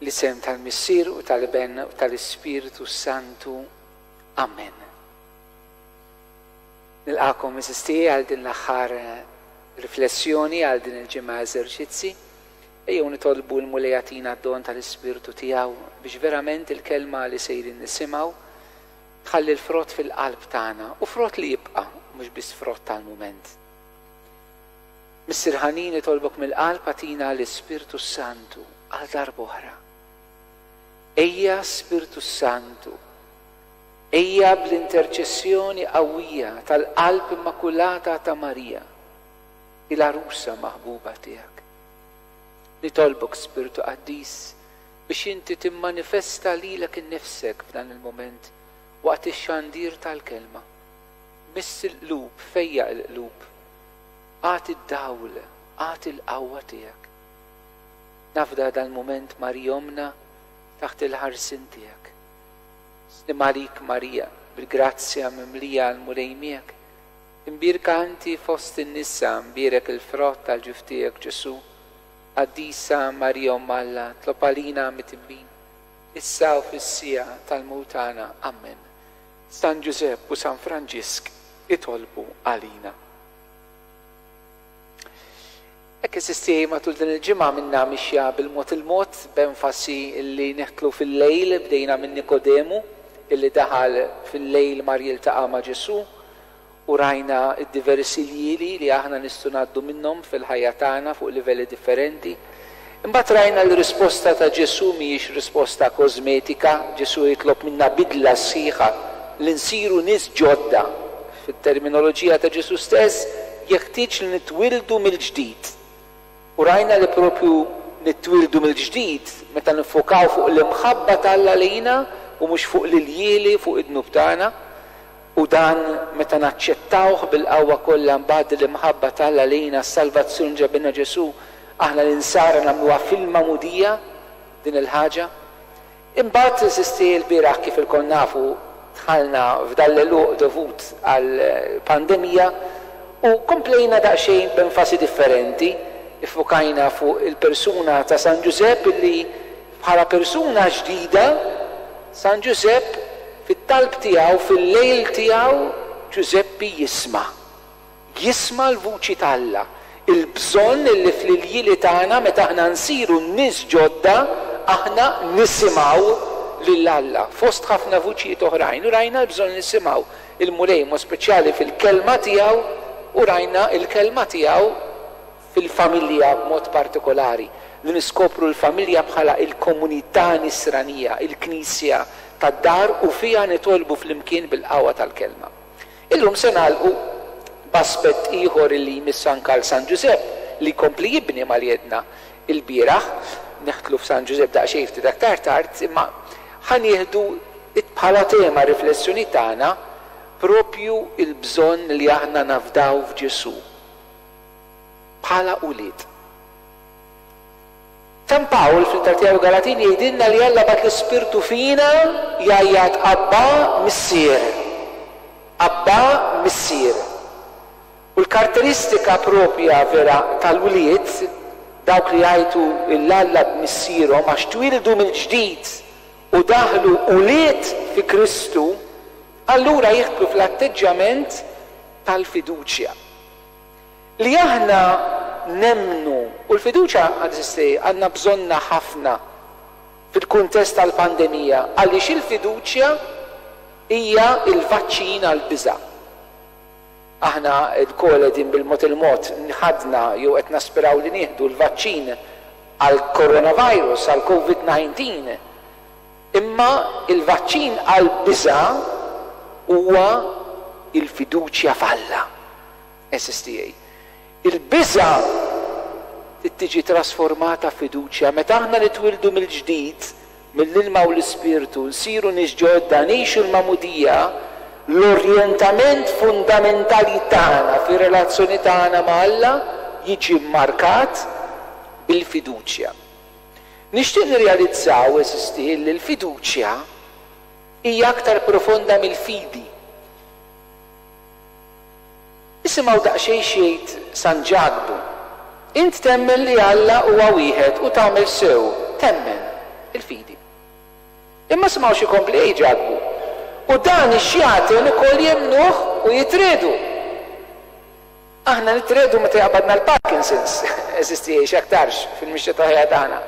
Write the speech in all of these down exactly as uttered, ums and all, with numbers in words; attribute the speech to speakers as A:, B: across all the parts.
A: L-isem tal-Missier u tal-Iben u tal-Ispirtu Santu. Amen. Nilqakom għeżież tiegħi għal din l-aħħar riflessjoni għal din il-ġimgħa eżerċizzi. Ejjew nitolbu l-Mulej jagħtina d-don tal-Ispirtu tiegħu biex verament il-kelma li sejrin nisimgħu tħalli l-frott fil-qalb tagħna u frott li jibqa' mhux biss frott tal-mument. Missier ħanin, nitolbok mill-qalb agħtina l-Ispirtu Santu għal darb'oħra. Ejja Spirtu Santu, ejja bl-interċessjoni qawwija tal-qalb immakulata ta' Marija, il-għarusa maħbuba tiegħek. Nitolbok Spirtu Qaddis biex inti timmanifesta lilek innifsek f'dan il-moment waqt ix-xandir tal-kelma. Miss il-qlub, fejjaq il-qlub, agħti d-dawl, agħti l-qawwa tiegħek. Nafda dal-moment Marija Ommna taħt il-ħarsien tiegħek. Sliem għalik Marija, bil-grazzja mimlija l-Mulej miegħek. Imbierka inti fost in-nisa, mbierek il-frott tal-ġuf tiegħek Ġesù. Qaddisa Marija Omm Alla, itlob għalina midinbin, issa u fis-siegħa tal-mewt tagħna. Amen. San Ġużepp u San Franġisk itolbu għalina. Hekk għeżież tiegħi, matul din il-ġimgħa minna mixja bil-mod il-mod, b'enfasi li nidħlu fil-lejl, bdejna minn Nikodemu, illi daħal fil-lejl mar jiltaqa' ma' Ġesù, u rajna d-diversi ljieli li aħna nistgħu ngħaddu minnhom fil-ħajja tagħna fuq livelli differenti. Imbagħad rajna l-risposta ta' Ġesù mhijiex risposta kosmetika, Ġesù jitlob minna bidla sħiħa li nsiru nies ġodda. Fit-terminoloġija ta' Ġesù stess, jeħtieġ li nitwildu mill-ġdid. U rajna li propju nitwildu mill-ġdid meta nifokaw fuq l-imħabba t'Alla lejna u mhux fuq l-iljieli, fuq id-dnub tagħna. U dan meta naċċettawh bil-qawwa kollha mbagħad l-imħabba t'Alla lejna, s-salvazzjoni ġabilna Ġesù, aħna l-insara nagħmluha fil-magħmudija din il-ħaġa. Imbagħad għeżież tiegħi l-bieraħ kif ilkoll nafu dħalna f'dal-għeluq dovut għall-pandemija u komplejna daqsxejn b'enfasi differenti. Iffukajna fuq il-persuna ta' San Ġużepp illi bħala persuna ġdida San Ġużepp fit-talb tiegħu, fil-lejl tiegħu, Ġużeppi jisma'. Jisma' l-vuċi t'Alla. Il-bżonn illi fl-iljieli tagħna meta aħna nsiru nies ġodda, aħna nisimgħu lil Alla. Fost ħafna vuċijiet oħrajn, u rajna l-bżonn nisimgħu il-Mulej mod speċjali fil-kelma tiegħu, u rajna il-kelma tiegħu fil-familja b'mod partikolari, li niskopru l-familja bħala il-komunità nisranija, il-knisja tad-dar u fija nitolbu flimkien bil-qawwa tal-kelma. Illum se nagħlqu b'aspett ieħor li jmiss anke għal San Ġużepp li jkompli jibni mal-jedna il-bieraħ, neħtlu f'San Ġużepp daqsxejn ftit aktar tard, imma ħa nieħdu bħala tema riflessjoni tagħna propju il-bżonn li aħna nafdaw f'Ġesù bħala ulied. San Pawl fl-ittra tiegħu Galatin jgħidilna li Alla bagħat l-Ispirtu fina jgħajjat Abba Missier. Abba Missier. U l-karatteristika propja vera tal-wlied, dawk li jgħajtu 'l Alla b'missierhom għax twildu mill-ġdid u daħlu ulied fi Kristu, allura jidħlu fl-atteġġjament tal-fiduċja. Li aħna nemmnu, u l-fiduċja għażiżti għandna bżonnha ħafna fil-kuntest tal-pandemija, għaliex il-fiduċja hija il-vaċċin għall-biża'. Aħna lkoll qegħdin bil-mod il-mod ħadna jew qed naspiraw li nieħdu l-vaċċin għall-coronavirus, għall-COVID nineteen. Imma il-vaċċin għall-biża' huwa il-fiduċja f'Alla. S S T A. Il-biża' trid tiġi trasformata f'fiduċja. Meta aħna nitwildu mill-ġdid, mill-ilma u l-ispirtu, nsiru nies ġodda, ngħixu l-magħmudija, l-orjentament fundamentali tagħna fir-relazzjoni tagħna ma' Alla jiġi mmarkat bil-fiduċja. Nixtieq nirrealizzaw, għeżież tiegħi, li l-fiduċja hija aktar profonda mill-fidi. Isimgħu daqsxejn xejn San Ġakbu. Int temmen li Alla huwa wieħed u tagħmel sew, temmen. Il-fidi. Imma smgħu xi kompli jgħid Ġakbu. U dan ix-xjaten ukoll jemmnuh u jitriegħdu. Aħna nitriegħdu meta jaqbadna l-Parkinson's, eżisti jgħix aktarx fil-mixja ta' ħajja tagħna.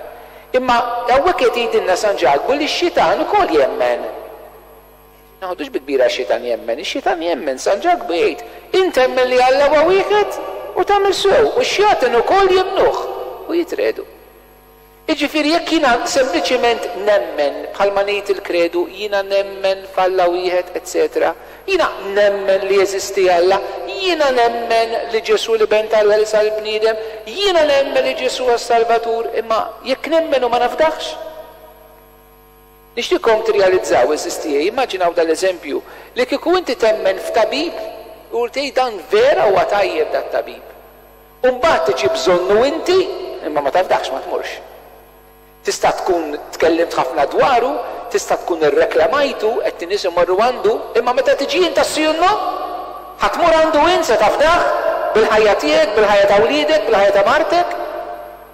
A: Imma hawnhekk qed jgħidilna San Ġakbu li x-xitan ukoll jemmen. Naħdux bi kbira x-xitan jemmen, ix-xitan jemmen, San Ġakbu jgħid, int temmen li Alla huwa wieħed u tagħmel sew, u x-xjaten ukoll jemmnuh u jitriegħdu. Jiġifieri jekk jiena sempliċement nemmen bħalma ngħid il-kredu, jiena nemmen f'Alla wieħed, eċċetera. Jiena nemmen li jeżisti Alla, jiena nemmen li Ġesù l-Iben t'Alla li sar bniedem, jiena nemmen li Ġesù għas-Salvatur, imma jekk nemmen u ma nafdax. Nixtieqkom tirrealizzaw, eżisti, immaġinaw dal-eżempju, li kieku inti temmen f'tabib u tgħid dan vera huwa tajjeb dat-tabib. U mbagħad tiġi bżonnu inti, imma ma tafdax, ma tmurx. Tista' tkun tkellimt ħafna dwaru, tista' tkun irreklamajtu, qed in-nies imorru għandu, imma meta tiġi int sì u no, ħa tmur għandu int se tafdah bil-ħajja tiegħek, bil-ħajja ta' wliedek, bil-ħajja ta' martek,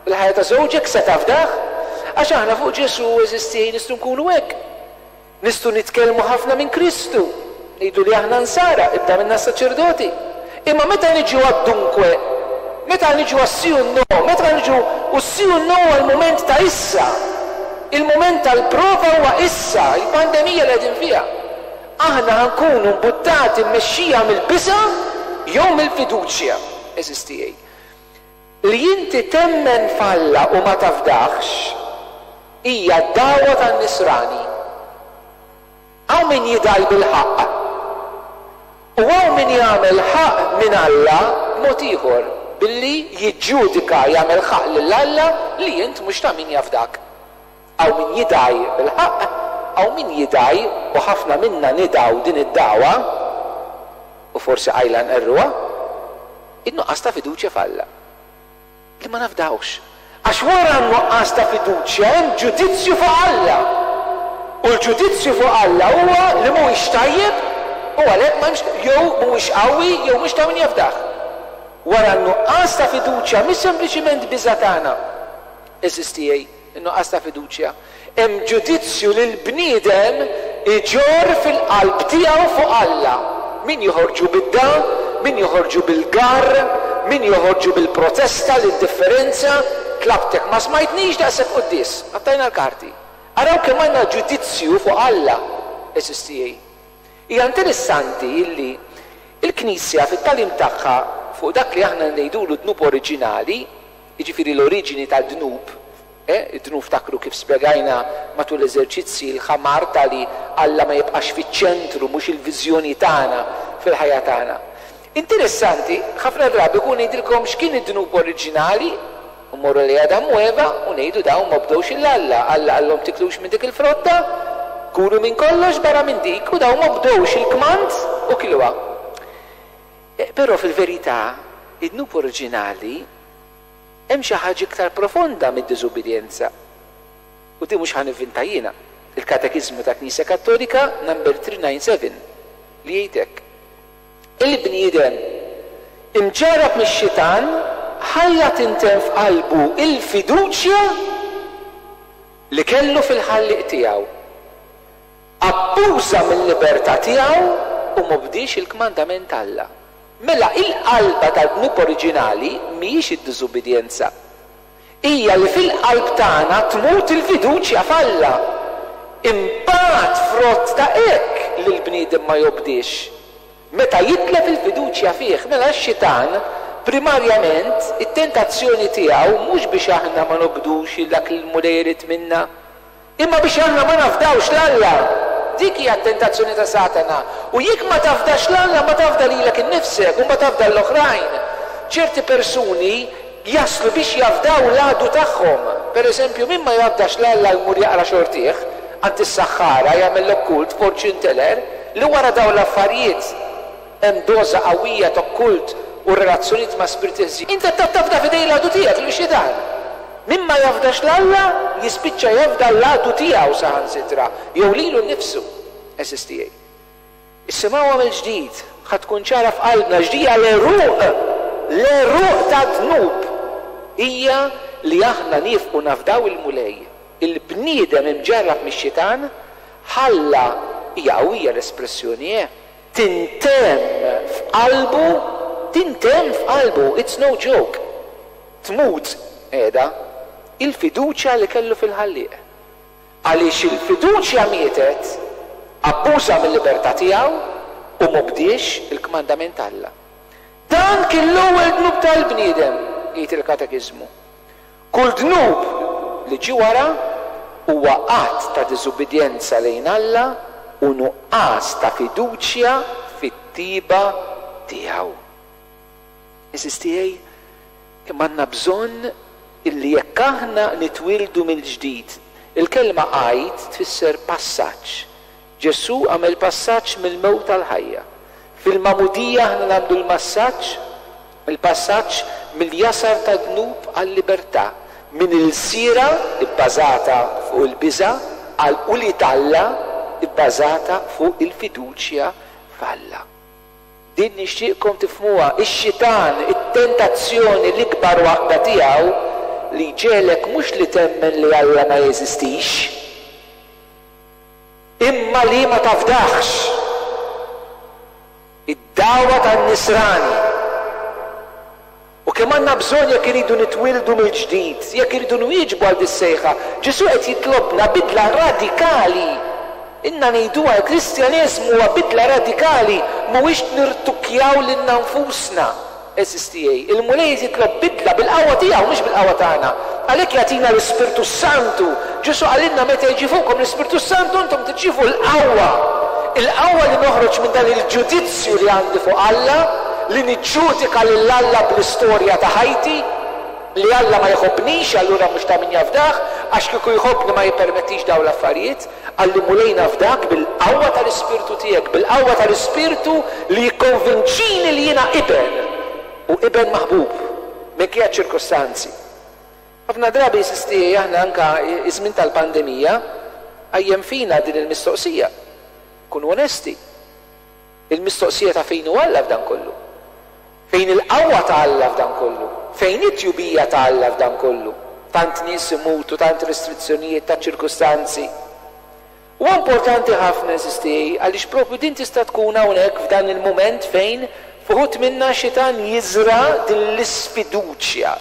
A: bil-ħajja ta' żewġek se tafdah. Għax aħna fuq Ġesù eżisti nistgħu nkunu hekk. Nistgħu nitkellmu ħafna minn Kristu, ngħidu li aħna nsara, ibda minna saċerdoti. Imma meta niġu għad-dunkwe, meta niġu għas-sì u no, meta niġu u sì u no għal-moment ta' issa, il-moment tal-prova huwa issa, il-pandemija li qegħdin fiha. Aħna ħa nkunu mbuttati mmexxija mill-biża' jew mill-fiduċja, eżisti. Li inti temmen f'Alla u ma tafdax hija d-dagħwa tan-nisrani. Hawn min jidgħi bil-ħaqq. U hawn min jagħmel ħaqq minn Alla b'mod ieħor, billi jiġġudika jagħmel ħaqq lil Alla li int mhux ta' min jafdak. Hawn min jidgħi bil-ħaqq, hawn min jidgħi, u ħafna minna nidgħu din id-dagħwa, u forsi qajla nqerruha, in-nuqqas ta' fiduċja f'Alla. Li ma nafdawx. Għax wara n-nuqqas ta' fiduċja hemm ġudizzju fuq Alla. U l-ġudizzju fuq Alla huwa li mhuwiex tajjeb u għalhekk m'hemmx, jew mhuwiex qawwi jew mhux ta' min jafdah. Wara n-nuqqas ta' fiduċja mhix sempliċiment biża' tagħna. Eżisti in-nuqqas ta' fiduċja. Hemm ġudizzju li l-bniedem iġorr fil-qalb tiegħu fuq Alla. Min joħorġu bid-da, min joħorġu bil-gar, min joħorġu bil-protesta, l-indifferenza, tlabtek ma smajtnix daqshekk quddies, qattajna l-karti. Araw kemm għandna ġudizzju fuq Alla, eżisti. Hija interessanti illi il-Knisja fit-tagħlim tagħha fuq dak li aħna ngħidulu dnub oriġinali, jiġifieri l-oriġini tad-dnub, eh, id-dnub ftakru kif spjegajna matul l-eżerċizzi l-ħamar tali Alla ma jibqax fiċ-ċentru, mhux il-viżjoni tagħna fil-ħajja tagħna. Interessanti, ħafna drabi kun ngħidilkom x'kien id-dnub oriġinali, u morru li Adam u Eva u ngħidu dawn ma bdewx il Alla, Alla qallhom tiklux minn dik il-frotta, kulu minn kollox barra minn dik, u dawn ma bdewx il-kmand u kiluha. E, però fil-verità, id-dnub oriġinali hemm xi ħaġa iktar profonda mid-diżubbidjenza. U di mhux ħa nivvinta jiena. Il-Katekiżmu ta' Knisja Kattolika number three nine seven li jgħid hekk. Il-bniedem imġarrab mix-xitan ħalla tinten f'qalbu il-fiduċja li kellu fil-ħallieq tiegħu. Abbuża mill-libertà tiegħu u m'obdiex il-kmandament Alla. Mela il-qalba tad-dnub oriġinali mhijiex id-diżubbidjenza. Hija li fil-qalb tagħna tmut il-fiduċja f'Alla. Imbagħad frott ta' hekk li l-bniedem ma jobdiex. Meta jitlef il-fiduċja fih, mela x-xitan primarjament it-tentazzjoni tiegħu mhux biex aħna ma nobdux dak li l-Mulej irid minna, imma biex aħna ma nafdawx l-Alla. Dik hija t-tentazzjoni ta' Satana. U jekk ma tafdax l-Alla, ma tafda lilek innifsek u ma tafda l-oħrajn. Ċerti persuni jaslu biex jafdaw l-għadu tagħhom. Per eżempju, min ma jafdax l-Alla jmur jaqra xortih, għand is-saħħara jagħmel l-okkult, fortune teller, li wara dawn l-affarijiet hemm doża qawwija ta' okkult u relazzjonijiet ma' spiriti ħżiena. Inti qed tafda f'idej l-għadu tiegħek li xitan. Min ma jafdax l-Alla jispiċċa jafda l-għadu tiegħu saħansitra jew lilu nnifsu. Eżisti. Issimgħuha mill-ġdid, ħa tkun ċara f'qalbna x'dija l-għeruq, l-għeruq ta' dnub hija li aħna nifqu nafdaw il-Mulej. Il-bniedem imġarrab mix-xitan ħalla, hija qawwija l-espressjoni, eh, tintemm f'qalbu, tintemm f'qalbu, it's no joke. Tmut qiegħda il-fiduċja li kellu fil-Ħallieq. Għaliex il-fiduċja mietet, abbuża mill-libertà tiegħu u m'obdiex il-kmandament t'Alla. Dan kien l-ewwel dnub tal-bniedem, jgħid il-Katekiżmu. Kull dnub li ġie wara huwa att ta' diżubbidjenza lejn Alla u nuqqas ta' fiduċja fit-tiba tiegħu. Għeżież tiegħi, kemm għandna bżonn illi jekk aħna nitwieldu mill-ġdid, il-kelma Għid tfisser passaġġ. Ġesù għamel passaġġ mill-mewt għall-ħajja. Fil-magħmudija aħna nagħmlu l-massaġġ, il-passaġġ mill-jasar tad-dnub għal-libertà, minn ilsira bbażata fuq il-biża' għal ulied Alla bbażata fuq il-fiduċja f'Alla. Din nixtieqkom tifhmuha, ix-xitan, it-tentazzjoni l-ikbar waħda tiegħu li jġegħlek mhux li temmen li Alla ma jeżistix, imma li ma tafdaħx. Id-dagħwa tan-nisrani. U kemm għandna bżonn jekk iridu nitwieldu mill-ġdid, jekk iridu nwieġbu għal dis-sejħa, Ġesù qed jitlobna bidla radikali. Inna ngħiduha, il-Kristjaneżmu huwa bidla radikali, mhuwiex nirtukkjaw lilna nfusna. Għeżież tiegħi, il-Mulej qed jitlob bidla bil-qawwa tiegħu, mhux bil-qawwa tagħna. Għalhekk jagħtina l-Ispirtu Santu. Ġesù qalilna meta jiġi fuqkom l-Ispirtu Santu intom tirċievu l-qawwa. Il-qawwa li noħroġ minn dan il-ġudizzju li għandi fuq Alla, li niġġudika lil Alla bl-istorja ta' ħajti, li Alla ma jħobbnix, allura mhux ta' min jafdah, għax kieku jħobbni ma jippermettix dawn l-affarijiet. Qalli Mulej nafdak bil-qawwa tal-Ispirtu tiegħek, bil-qawwa tal-Ispirtu li jikkonvinċini li jiena iben u iben maħbub minkejja ċ-ċirkostanzi. Ħafna drabi għeżież tiegħi aħna anka iż-żmien tal-pandemija qajjem fina din il-mistoqsija. Kunu onesti. Il-mistoqsija ta' fejn hu Alla f'dan kollu. Fejn il-qawwa ta' Alla f'dan kollu. Fejn it-tjubija ta' Alla f'dan kollu. Tant nies imutu, tant restrizzjonijiet, ta' ċirkustanzi. Huwa importanti ħafna għeżież tiegħi għaliex propju din tista' tkun hawnhekk f'dan il-mument fejn f'uħud minna xitan jiżra' din l-isfiduċja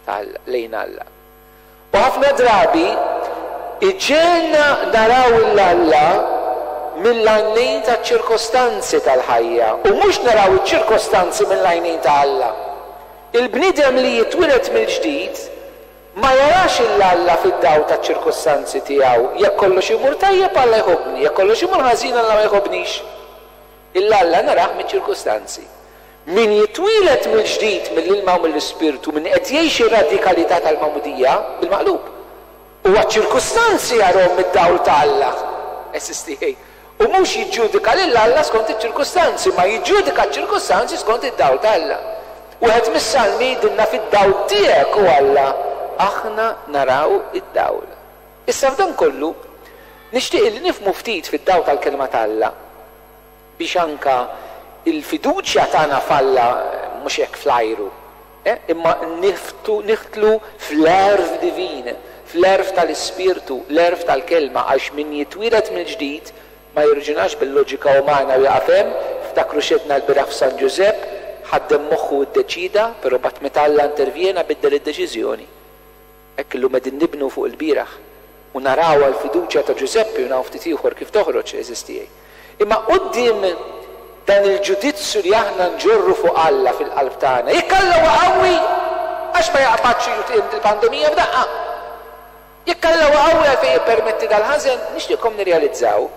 A: tal lejn Alla. U ħafna drabi iġegħelna naraw 'l Alla mill-għajnejn taċ-ċirkostanzi tal-ħajja u mhux naraw iċ-ċirkostanzi mill-għajnejn ta' Alla. Il-bniedem li jitwieled mill-ġdid ma jarax 'il Alla fid-dawl taċ-ċirkostanzi tiegħu. Jekk kollox imur tajjeb Alla jħobbni, jekk kollox imur ħażin Alla ma jħobbnix. 'Il Alla narah miċ-ċirkostanzi. Min jitwieled mill-ġdid mill-ilma u mill-Ispirtu, min qed jgħix ir-radikalità tal-magħmudija, bil-maqlub. Huwa ċ-ċirkustanzi jarahom mid-dawl ta' Alla. S S T A. U mhux jiġġudika lil Alla skont iċ-ċirkustanzi, ma jiġġudika ċ-ċirkustanzi skont id-dawl ta' Alla. Wieħed mis-salmi jgħidilna fid-dawl tiegħek, o Alla, aħna naraw id-dawl. Issa f'dan kollu, nixtieq li nifhmu ftit fid-dawl tal-kelma ta' Alla, biex anka il-fiduċja tagħna f'Alla mhux hekk fl-ajru, eh, imma niftu, niħtlu fl-għerf divin, fl-għerf tal-Ispirtu, l-għerf tal-kelma, għax min jitwieled mill-ġdid ma jirġunax bil-loġika umana u jaqaf hemm. Ftakru xedna l-bieraħ f'San Ġużepp, ħaddem moħħu u ddeċida, però mbagħad meta Alla intervjena biddel id-deċiżjoni. Hekk illum qegħdin nibnu fuq il-bieraħ u naraw għall-fiduċja ta' Ġużeppi u naraw ftit ieħor kif toħroġ, għeżież tiegħi. Imma quddiem dan il-ġudizzju li aħna nġorru fuq Alla fil-qalb tagħna, jekk Alla huwa qawwi, għax ma jaqbadx jutim il-pandemija f'daqqa? Jekk Alla huwa qawwi għalfejn jippermetti dal-ħażen, nixtieqkom nirrealizzaw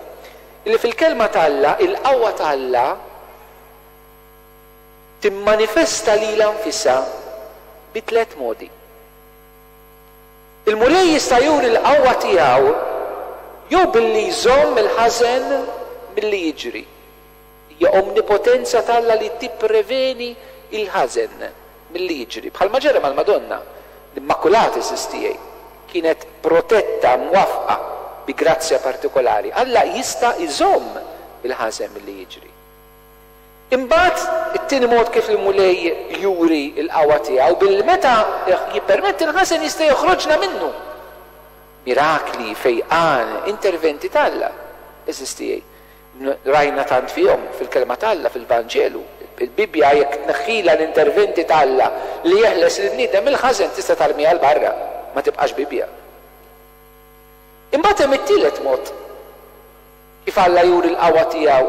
A: li fil-kelma ta' Alla, il-qawwa ta' Alla timmanifesta lilha nfisha bi tliet modi. Il-Mulej jista' juri l-qawwa tiegħu jew billi jżomm il-ħażen milli jiġri. Hija omnipotenza ta' Alla li tippreveni il-ħażen milli jiġri. Bħalma ġara mal-Madonna, l-Immakulata għeżież tiegħi, kienet protetta, mwafqa bi grazzja partikolari. Alla jista' jżomm il-ħażen milli jiġri. Imbagħad it-tieni mod kif il-Mulej juri l-qawwa tiegħu billi meta jippermetti l-ħażen jista' joħroġna minnu. Mirakli, fejqan, interventi t'Alla. Għeżież tiegħi. Rajna tant fihom fil-kelma t'Alla, fil-Vanġelu. Il-Bibbja jekk tneħħilha l-interventi t'Alla li jeħles il-bniedem mill-ħażen tista' tarmiha 'l barra, ma tibqax Bibbja. Imbagħad hemm it-tielet mod kif Alla juri l-qawwa tiegħu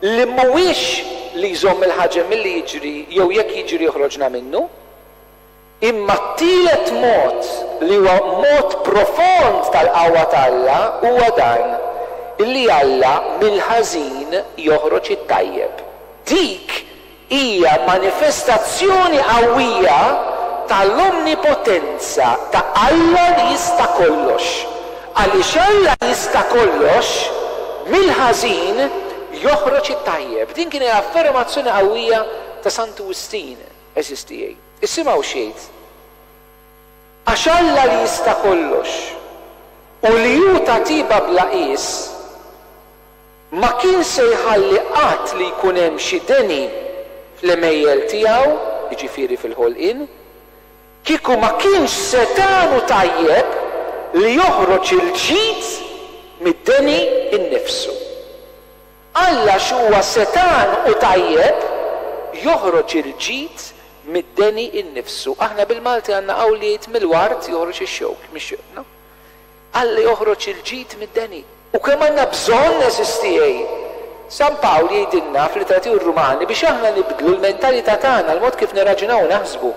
A: li mhuwiex li jżomm il-ħaġen milli jiġri jew jekk jiġri joħroġna minnu, imma t-tielet mod li huwa mod profond tal-qawwa t'Alla huwa dan, illi Alla mill-ħażin joħroġ it-tajjeb. Dik hija manifestazzjoni qawwija tal-omnipotenza ta' Alla li jista' kollox. Għaliex Alla jista' kollox, mill-ħażin joħroġ it-tajjeb. Din kien affermazzjoni qawwija ta' Santu Wistin, għeżież tiegħi. Isimgħu xejn. Għax Alla li jista' kollox u li hu ta' tiba bla qies, ma kien se jħalli qatt li jkun hemm xi deni fl-għemejjel tiegħu, jiġifieri fil-ħolqien, kieku ma kienx setgħan u tajjeb li joħroġ il-ġid mid-deni innifsu. Alla x'huwa setgħan u tajjeb joħroġ il-ġid mid-deni innifsu. Aħna bil-Malti għandna qawl li jgħid mill-ward joħroġ ix-xewk, mhix no? Alla joħroġ il-ġid mid-deni. U kemm għandna bżonn, għeżież tiegħi. San Pawl jgħidilna fl-Ittra tiegħu Rumani biex aħna nibdlu l-mentalità tagħna, l-mod kif nirraġunaw u naħsbu.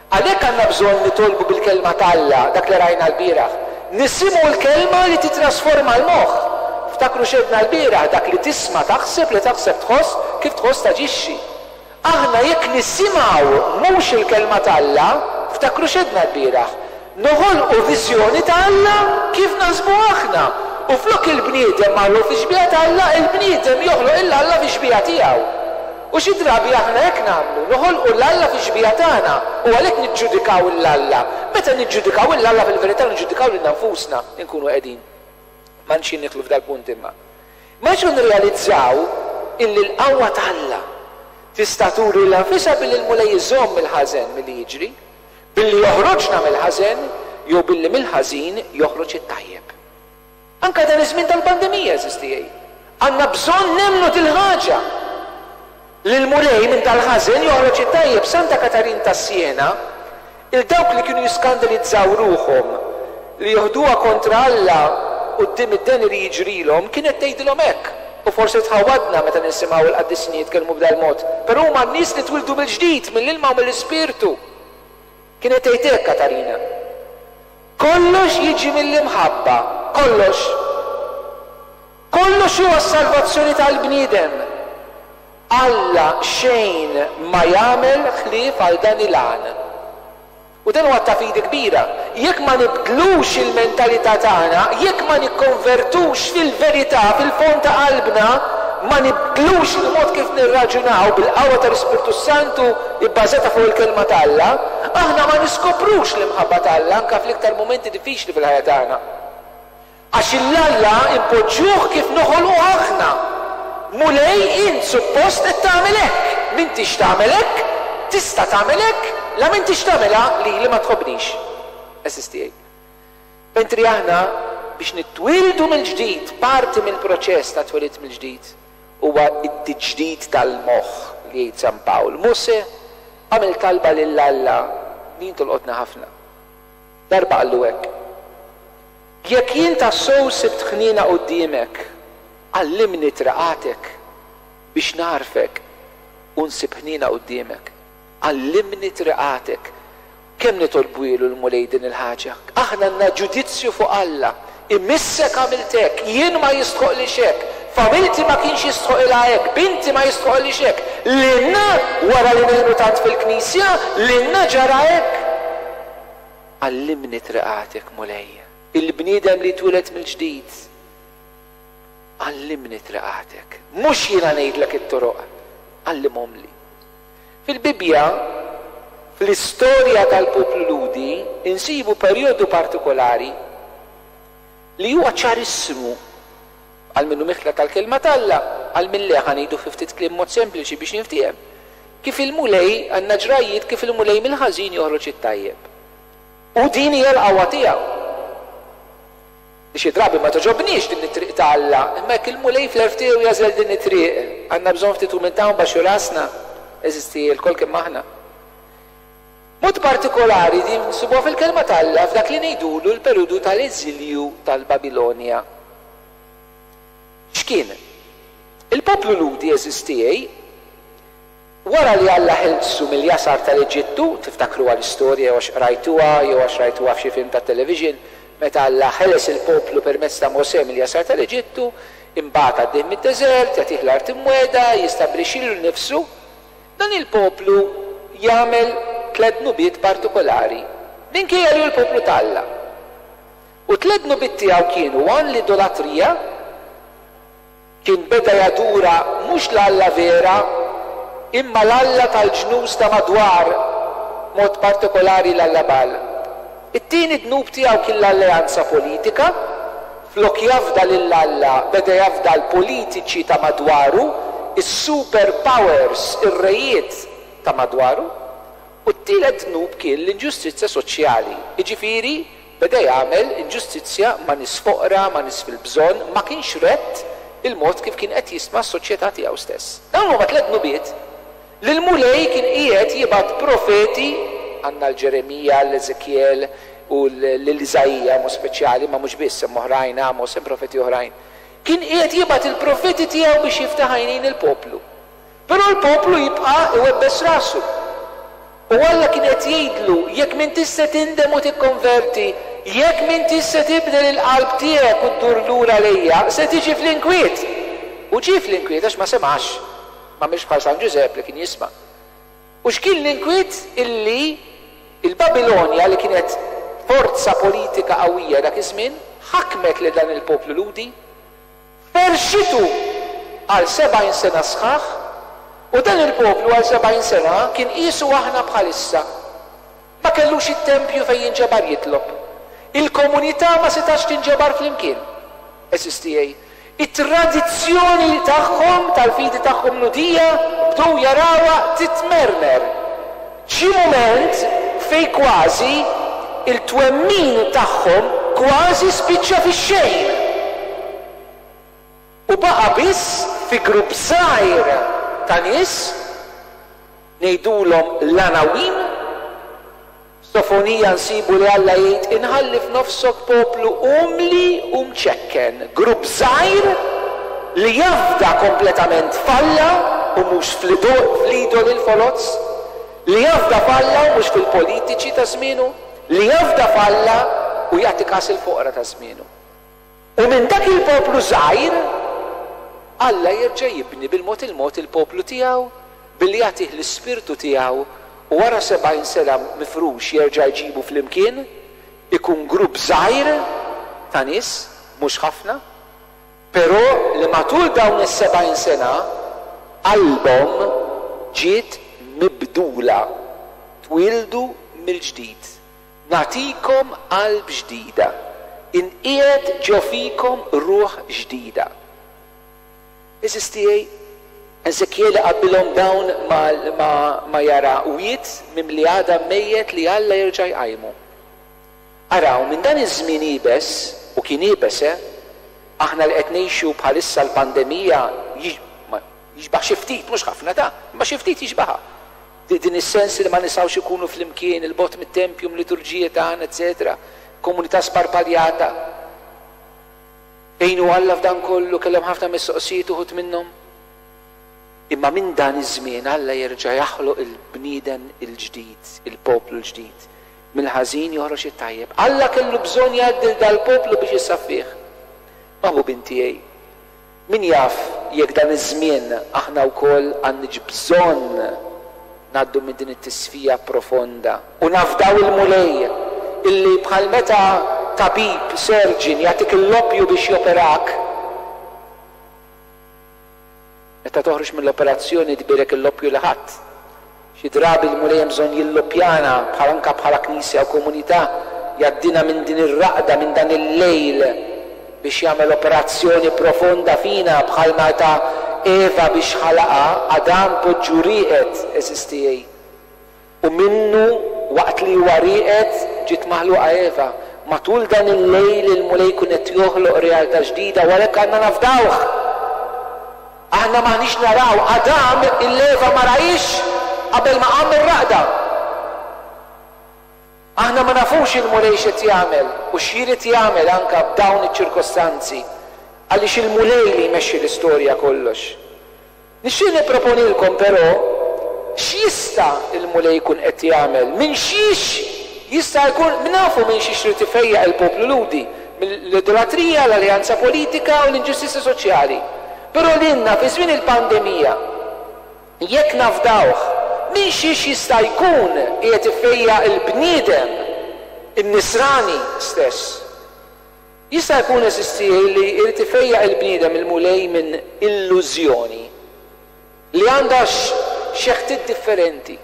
A: Għalhekk għandna bżonn nitolbu bil-kelma t'Alla, dak li rajna l-bieraħ. Nisimgħu l-kelma li titrasforma l-moħħ. Ftakru x'għedna l-bieraħ, dak li tisma' taħseb, li taħseb tħoss, kif tħoss taġixxi. Aħna jekk nisimgħu mhux il-kelma t'Alla, ftakru x'għedna l-bieraħ, noħolqu viżjoni ta' Alla kif naħsbu aħna. U flok il-bniedem maħluq fi xbieha ta' Alla, il-bniedem joħloq il Alla fi xbieha tiegħu. U xi drabi aħna hekk nagħmlu, noħolqu l-Alla fi xbieha tagħna u għalhekk niġġudikaw l-Alla. Meta niġġudikaw l-Alla fil-verità niġġudikaw lilna nfusna nkunu qegħdin. Ma nxin nidħlu f'dal-punt imma. Ma nxu nirrealizzaw illi l-qawwa t'Alla tista' turi lilha nfisha billi l-Mulej iżomm il-ħażen milli jiġri, billi joħroġna mill-ħażen jew billi mill-ħażin joħroġ it-tajjeb. Anka dan iż-żmien tal-pandemija, għeżież tiegħi. Għandna bżonn nemmnu dil-ħaġa. Li l-Mulej minn tal-ħażen joħroġ it-tajjeb. Santa Katarin ta' Siena, il dawk li kienu jiskandalizzaw ruħhom li joħduha kontra Alla quddiem id-deni li jiġrilhom, kienet tgħidilhom hekk. U forsi tħawadna meta nisimgħu l-qaddisin jitkellmu b'dal-mod, però huma n-nies li twildu mill-ġdid, mill-ilma u mill-ispirtu. Kienet tgħid hekk Katarina. Kollox jiġi mill-imħabba, kollox. Kollox huwa s-salvazzjoni tal-bniedem. Alla xejn ma jagħmel ħlief għal dan il-għan. U dan huwa ta' fidi kbira. Jekk ma nibdlux il-mentalità tagħna, jekk ma nikkonvertux fil-verità, fil-fond ta' qalbna, ma nibdlux il-mod kif nirraġunaw bil-qawwa tal-Ispirtu Santu bbażata fuq il-kelma ta' Alla, aħna ma niskoprux l-imħabba ta' Alla anke fl-iktar momenti diffiċli fil-ħajja tagħna. Għax il-Alla impoġġuh kif noħolqu aħna. Mulej, int suppost qed tagħmel hekk. M'intix tagħmel hekk, tista' tagħmel hekk, la m'intix tagħmilha li li ma tħobbnix. Għeżież tiegħi. Mentri aħna biex nitwildu mill-ġdid, parti mill-proċess ta' twelid mill-ġdid huwa t-tiġdid tal-moħħ li jgħid San Pawl. Mose għamel talba lil Alla li tolqotna ħafna. Darba qallu hekk. Jekk jien tassew sibt ħniena quddiemek, għallimni triqatek biex narfek u nsib ħniena quddiemek. Għallimni triqatek. Kemm nitolbu l-Mulej din il-ħaġa? Aħna għandna ġudizzju fuq Alla. Imissek għamilt hekk, jien ma jistħoqlix hekk, familti ma kienx jistħoqilha hekk, binti ma jistħoqlix hekk. Lilna wara li ngħinu tant fil-knisja, lilna ġara hekk. Għallimni triqatek, Mulej. Il-bniedem li twieled mill-ġdid, għallimni triqatek. Mhux jiena ngħidlek it-toroq, għallimhomli. Fil-Bibbja, fl-istorja tal-poplu Lhudi, insibu perjodu partikolari li huwa ċarissimu għal minnu miħla tal-kelma t'Alla, għal min leħa ngħidu fi ftit kliem mod sempliċi biex niftiehem. Kif il-Mulej għandna ġrajiet kif il-Mulej mill-ħażin joħroġ it-tajjeb. U din hija l-qawwa tiegħu. Li xi drabi ma togħġobniex din it-triq ta' Alla, imma jekk il-Mulej fl-għerf tiegħu jagħżel din it-triq, għandna bżonn ftit umiltà u nbaxxu rasna, għeżież tiegħi, lkoll kemm aħna. Mod partikolari din nsibuha fil-Kelma ta' Alla f'dak li ngħidulu l-perjodu tal-eżilju tal-Babilonja. X'kien? Il-poplu Lhudi, għeżież tiegħi, wara li Alla ħelsu mill-jasar tal-Eġittu, tiftakruha l-istorja jew għax qrajtuha jew għax rajtuha f'xi film tat-television, meta Alla ħeles il-poplu permezz ta' Mosè mill-jasar tal-Eġittu, imbagħad għaddih mid-deżert, jagħtih l-art imwiegħda, jistabbilixxilu nnifsu, dan il-poplu jagħmel tliet dnubiet partikolari, minkejja li hu l-poplu ta' Alla. U tliet dnubiet tiegħu kienu one l-idolatrija, kien beda jadura mhux l-Alla vera, imma l-alla tal-ġnus ta' madwar, mod partikolari l-alla Baal. It-tieni dnub tiegħu kien l-alleanza politika, flok jafda lil Alla beda jafda l-politiċi ta' madwaru, is-super powers, ir-rejiet ta' madwaru. U t-tielet dnub kien l-inġustizzja soċjali, jiġifieri beda jagħmel inġustizzja ma' nies foqra, ma' nies fil-bżonn, ma kienx rett il-mod kif kien qed jistma s-soċjetà tiegħu stess. Dawn huma tliet dnubiet li l-Mulej kien qiegħed jibgħat profeti, għandna l-Ġeremija, l-Eżekjel u lil Iżaija mod speċjali, ma mhux biss, hemm oħrajn, Amos, hemm profeti oħrajn. Kien qiegħed jibgħat il-profeti tiegħu biex jiftaħ għajnejn il-poplu. Però l-poplu jibqa' iwebbes rasu. U Alla kien qed jgħidlu, jekk m'intix se tindem u tikkonverti, jekk m'intix se tibdel il-qalb tiegħek u ddur lura lejja, se tiġi fl-inkwiet. U ġie fl-inkwiet għax ma semax, ma mhix bħal San Ġużepp li kien jisma'. U x'kien l-inkwiet? Illi il-Babilonja, li kienet forza politika qawwija dak iż-żmien, ħakmet lil dan il-poplu Lhudi, ferxitu għal sebgħin sena sħaħ, u dan il-poplu għal sebgħin sena kien qisu aħna bħalissa. Ma kellux it-tempju fejn jinġabar jitlob. Il-komunità ma setax tinġabar flimkien. Għeżież tiegħi. It-tradizzjoni tagħhom, tal-fidi tagħhom Lhudija, bdew jarawha titmermer. Ġie mument fej kważi il-twemmin tagħhom kważi spiċċa fix-xejn. U baqa' biss fi grupp żgħir ta' nies ngħidulhom l-Anawim. Sofonija nsibu li Alla jgħid inħalli f'nofsok poplu umli u mċekken, grupp żgħir li jafda kompletament f'Alla u mhux fl-idoli l-foloz, li jafda f'Alla u mhux fil-politiċi ta' żmienu, li jafda f'Alla u jagħti kas il-foqra ta' żmienu. U minn dak il-poplu żgħir Alla jerġa' jibni bil-mod il-mod il-poplu tiegħu billi jagħtih l-ispirtu tiegħu, u wara sebgħin sena mifrux jerġa' jġibu flimkien, ikun grupp żgħir ta' nies, mhux ħafna, però li matul dawn is-sebgħin sena qalbhom ġiet mibdula, twildu mill-ġdid. Nagħtikom qalb ġdida, inqiegħed ġo fikom ruħ ġdida. Għeżież tiegħi, Eżekjel qabbilhom dawn ma, ma, ma jara wied mimli għadam mejjet li Alla jerġa' jqajmu. Araw, minn dan iż-żmien iebes, u kien iebes, eh? Aħna li qed ngħixu bħalissa l-pandemija jixbaħ xi ftit, mhux ħafna ta', imma xi ftit jixbaħha. Din is-sens li ma nistgħux ikunu flimkien, il-bogħod mit-tempju, liturġija tagħna, eċetera. Komunità sparpaljata. Fejn hu Alla f'dan kollu? Kellhom ħafna mistoqsijiet uħud minnhom. Imma minn dan iż-żmien Alla jerġa' jaħloq il-bniedem il-ġdid, il-poplu l-ġdid. Mill-ħażin joħroġ it-tajjeb. Alla kellu bżonn jgħaddi dal-poplu biex jisaffih. Maħbubin tiegħi, min jaf jekk dan iż-żmien aħna wkoll għandniex bżonn ngħaddu minn din it-tisfija profonda u nafdaw il-Mulej illi bħal meta tabib, surgeon, jagħtik l-loppju biex joperak, meta toħroġ mill-operazzjoni tbierek il-loppju li ħadd. Xi drabi l-Mulej hemm bżonn jilloppjana bħal anka bħala knisja u komunità, jgħaddina minn din ir-raqda, minn dan il-lejl biex jagħmel operazzjoni profonda fina bħal meta Eva biex ħalaqa Adam poġġu rieqed, għeżież tiegħi. U minnu waqt li huwa rieqed ġiet maħluqa Eva. Matul dan il-lejl il-Mulej jkun qed joħloq realtà ġdida u għalhekk għandna nafdawh. Aħna m'aħniex naraw, Adam il-Eva ma rahiex qabel ma qam mir-raqda. Aħna ma nafux il-Mulej x'qed jagħmel u x'irid jagħmel anke b'dawn iċ-ċirkostanzi, għaliex il-Mulej li jmexxi l-istorja kollox. Nixtieq nipproponilkom però x'jista' il-Mulej jkun qed jagħmel, minn xiex jista' jkun, nafu minn xiex irid ifejjaq il-poplu Lhudi, mill-idolatrija, l-alleanza politika u l-inġustizja soċjali. Però lilna fi żmien il-pandemija, jekk nafdawh, minn xiex jista' jkun qiegħed ifejjaq il-bniedem, in-nisrani stess. Jista' jkun, għeżież tiegħi, li jrid ifejjaq il-bniedem il-Mulej minn illużjoni li għandha xeħtiet differenti.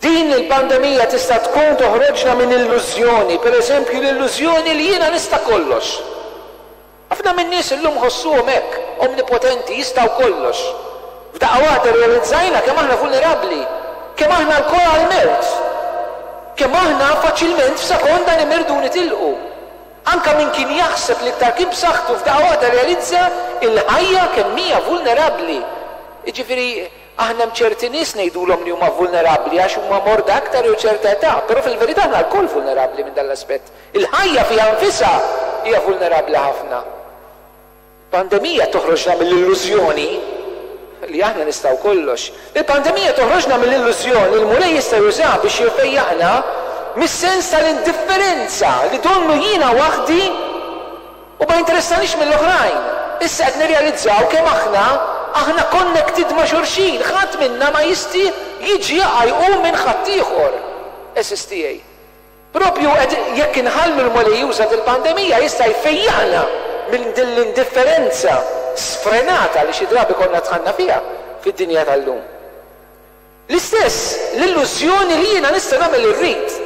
A: Din il-pandemija tista' tkun toħroġna minn illużjoni, per eżempju l-illużjoni li jiena nista' kollox. Ħafna minn nies illum ħossuhom hekk, omnipotenti, jistgħu kollox. F'daqqa waħda realizzajna kemm aħna vulnerabbli, kemm aħna lkoll għall-mewt, kemm aħna faċilment f'sekonda nimirdu nitilqu. Anka min kien jaħseb li iktar kien b'saħħtu f'daqqa waħda realizza il-ħajja kemm hija vulnerabbli. Jiġifieri aħna hemm ċerti nies ngħidulhom li huma vulnerabbli għax huma morda aktar jew ċerta età, però fil-verità aħna lkoll vulnerabbli minn dan l-aspett. Il-ħajja fiha nfisha hija vulnerabbli ħafna. Pandemija toħroġna mill-illużjoni li aħna nistgħu kollox. Il-pandemija toħroġna mill-illużjoni li l-Mulej jista' jużaha biex jfejjaqna mis-sens tal-indifferenza li donnu jiena waħdi u ma jinteressanix mill-oħrajn. Issa qed nirrealizzaw kemm aħna aħna connected ma' xulxin, ħadd minna ma jista' jiġi jaqa' jqum minn ħaddieħor. Għeżież tiegħi. Propju jekk inħallu l-Mulej juża il-pandemija jista' jfejjaqna minn din l-indifferenza sfrenata li xi drabi konna dħalna fiha fid-dinja tal-lum. L-istess l-illużjoni li jiena nista' nagħmel li rrid.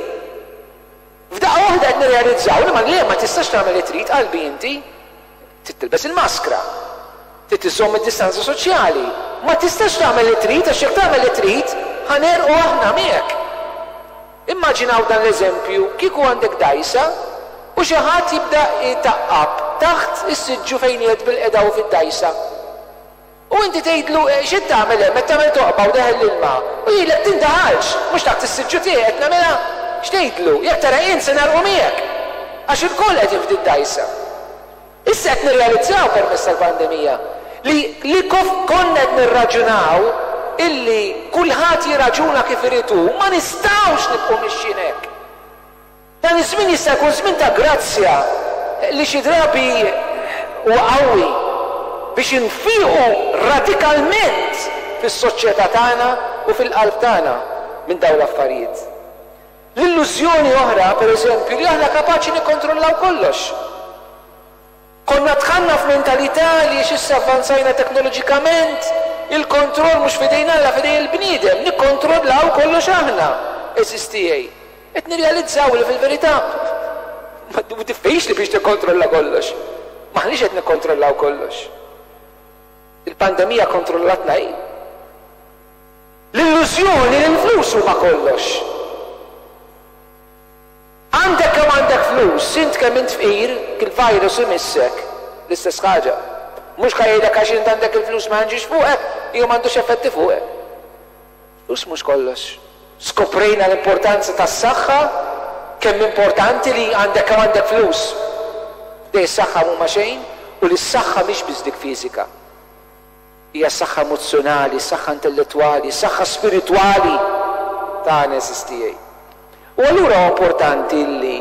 A: F'daqqa waħda qed nirrealizzaw li ma le ma tistax tagħmel li trid qalbi inti. Trid tilbes il-maskra. Trid iżżomm id-distanza soċjali. Ma tistax tagħmel li trid għax jekk tagħmel li trid ħa negħrqu aħna miegħek. Immaġinaw dan l-eżempju, kieku għandek dgħajsa u xi ħadd jibda jtaqqab taħt is-siġġu fejn qiegħed bil-qeda u fid-dgħajsa. U inti tgħidlu xi tagħmel hemm, qed tagħmel toqba u deħel l-ilma. U jgħidlek tindaħalx, mhux taħt is-siġġu tiegħi qed nagħmilha. X'tgħidlu? Jekk tara int se negħrqu miegħek. Għax ilkoll qegħdin f'din id-dgħajsa. Issa qed nirrealizzaw permezz tal-pandemija li li konna qed nirraġunaw illi kulħadd jirraġuna kif irid hu, ma nistgħux nibqgħu mixjin hekk. Dan iż-żmien jista' jkun żmien ta' grazzja li xi drabi huwa qawwi biex infiqu radikalment fis-soċjetà tagħna u fil-qalb tagħna minn dawn l-affarijiet. L-illużjoni oħra, per eżempju, li aħna kapaċi nikkontrollaw kollox. Konna dħalna f'mentalità li issa avvanzajna teknoloġikament, il-kontroll mhux f'idejn Alla, f'idejn il-bniedem, nikkontrollaw kollox aħna, għeżież tiegħi. Qed nirrealizzaw li fil-verità ma diffiċli biex tikkontrolla kollox. M'aħniex qed nikkontrollaw kollox. Il-pandemija kontrollatna hi. L-illużjoni li l-flus huma kollox. Għandek kemm għandek flus, int kemm int fqir, il-virus imissek, l-istess ħaġa. Mhux ħa jgħidlek għax int għandek il-flus ma nġiex fuqek, jew m'għandux effetti fuqek. Flus mhux kollox. Skoprejna l-importanza tas-saħħa, kemm importanti li għandek kemm għandek flus. Dej is-saħħa mhuma xejn u li s-saħħa mhix biss dik fiżika. Hija saħħa emozzjonali, saħħa intellettwali, saħħa spiritwali tagħna, għeżież tiegħi. U allura huwa importanti li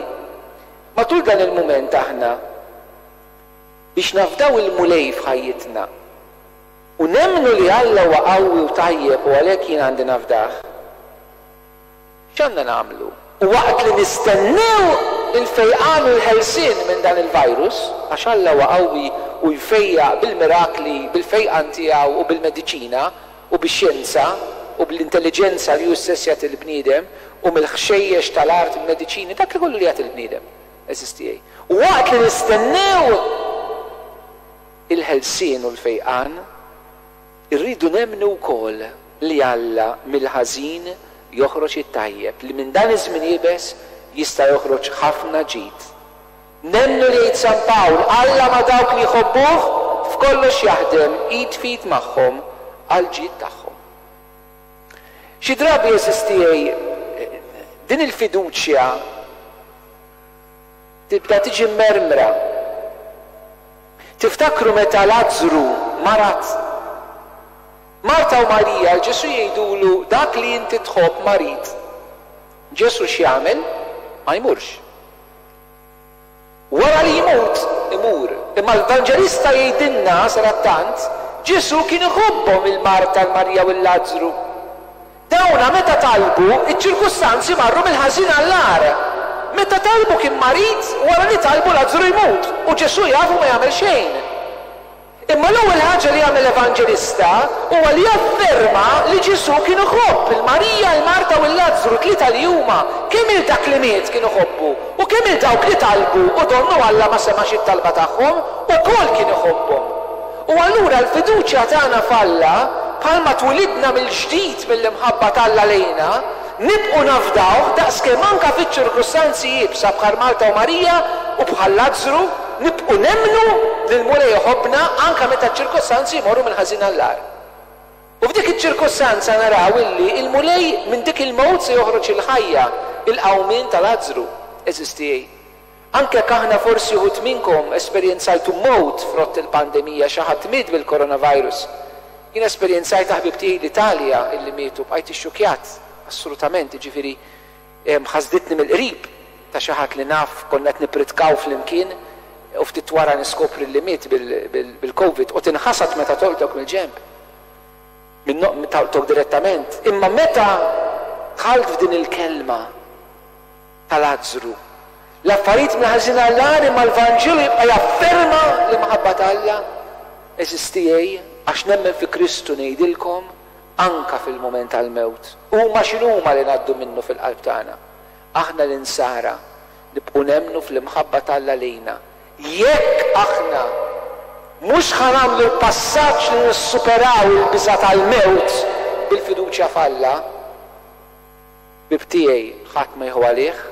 A: matul dan il-mument aħna biex nafdaw il-Mulej f'ħajjitna u nemmnu li Alla huwa qawwi u tajjeb u għalhekk jien għandi nafdah. X'għandna nagħmlu? U waqt li nistennew il-fejqan u l-ħelsien minn dan il-virus, għax Alla huwa qawwi u jfejjaq bil-mirakli, bil-fejqan tiegħu u bil-mediċina u bix-xjenza u bl-intelligenza li hu stess jagħti l-bniedem u mill-ħxejjex tal-art il-mediċini, dak li kollu li jagħti l-bniedem, għeżież tiegħi. U waqt li nistennew il-ħelsien u l-fejqan, irridu nemmnu wkoll li Alla mill-ħażin joħroġ it-tajjeb, li minn dan iż-żmien iebes jista' joħroġ ħafna ġid. Nemmnu li jgħid San Pawl, Alla ma' dawk li jħobbuh f'kollox jaħdem id f'id magħhom għall-ġid tagħhom. Xi drabi, għeżież tiegħi, din il-fiduċja tibda tiġi mermra. Tiftakru meta Lazzru marad? Marta u Marija Ġesu jgħidulu dak li inti tħobb marid. Ġesu x'jagħmel? Ma jmurx. Wara li jmut, imur. Imma l-Evanġelista jgħidilna sarattant, Ġesu kien iħobbhom il-Marta, l-Marija u l-Lazzru. Dawna meta talbu, iċ-ċirkustanzi marru mill-ħażin għall-agħar. Meta talbu kien marid, wara li talbu Lazzru jmut. U Ġesu jafu ma jagħmel xejn. Imma l-ewwel ħaġa li jagħmel l-Evanġelista huwa li jafferma li Ġesu kien iħobb il-Marija, il-Marta u l-Lazzru, tlieta li huma, kemm il dak li miet kien iħobbu u kemm il dawk li talbu u donnu Alla ma semax it-talba tagħhom, ukoll kien iħobbhom. U allura l-fiduċja tagħna f'Alla, bħalma twilidna mill-ġdid mill-imħabba t'Alla lejna, nibqgħu nafdawh daqskemm anke fiċ-ċirkustanzi iebsa bħal Marta u Marija u bħal Lazzru, nibqgħu nemmnu li l-Mulej iħobbna anke meta ċ-ċirkustanzi jmorru mill-ħażin għall-agħar. U f'dik iċ-ċirkustanza naraw illi l-Mulej minn dik il-mewt se joħroġ il-ħajja, il-qawmien ta' Lazzru. Għeżież tiegħi, anke jekk aħna forsi uħud minnkom esperjenzajtu mewt frott il-pandemija, xi ħadd miet bil-coronavirus. Jien esperjenzajt ħbib tiegħi l-Italja illi mietu, bqajt ixxukjat, assolutament, jiġifieri ħasditni mill-qrib ta' xi ħadd li naf, konna qed nippritkaw flimkien u ftit wara niskopri li miet bil-Covid, u tinħasad meta tolqtok mill-ġenb, minn tolqtok direttament. Imma meta dħalt f'din il-kelma ta' Lazzru, l-affarijiet mill-ħażin għall-agħar, imma l-Vanġelu jibqa' jafferma l-imħabba ta' Alla. Għeżież tiegħi, għax nemmen fi Kristu ngħidilkom, anka fil-mument tal-mewt, huma x'inhuma li ngħaddu minnu fil-qalb tagħna, aħna l-insara nibqgħu nemmnu fl-imħabba t'Alla lejna. Jekk aħna mhux ħa nagħmlu l-passaġġ li nissuperaw il-biża' tal-mewt bil-fiduċja f'Alla, ħbieb tiegħi, ħadd ma jieħu għalih,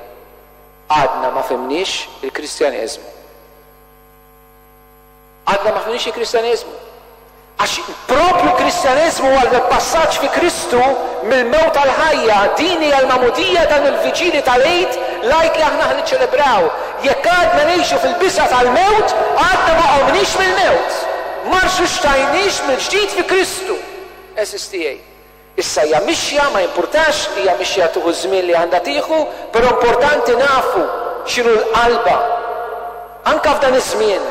A: għadna ma fhimniex il-Kristjaneżmu. Għadna ma fhimniex il-Kristjaneżmu. Għax propju Kristjaneżmu huwa l-passaġġ fi Kristu mill-mewt għall-ħajja, din hija l-magħmudija, dan il-viġili tal-Għid, l-Għid li aħna niċċelebraw. Jekk għadna ngħixu fil-biża' tal-mewt, għadna ma qomniex mill-mewt. Ma rxuxtajniex mill-ġdid fi Kristu. Għeżież tiegħi. Issa hija mixja, ma jimpurtax, hija mixja tieħu żmien li għandha tieħu, però importanti nafu x'inhu l-qalba. Anka f'dan iż-żmien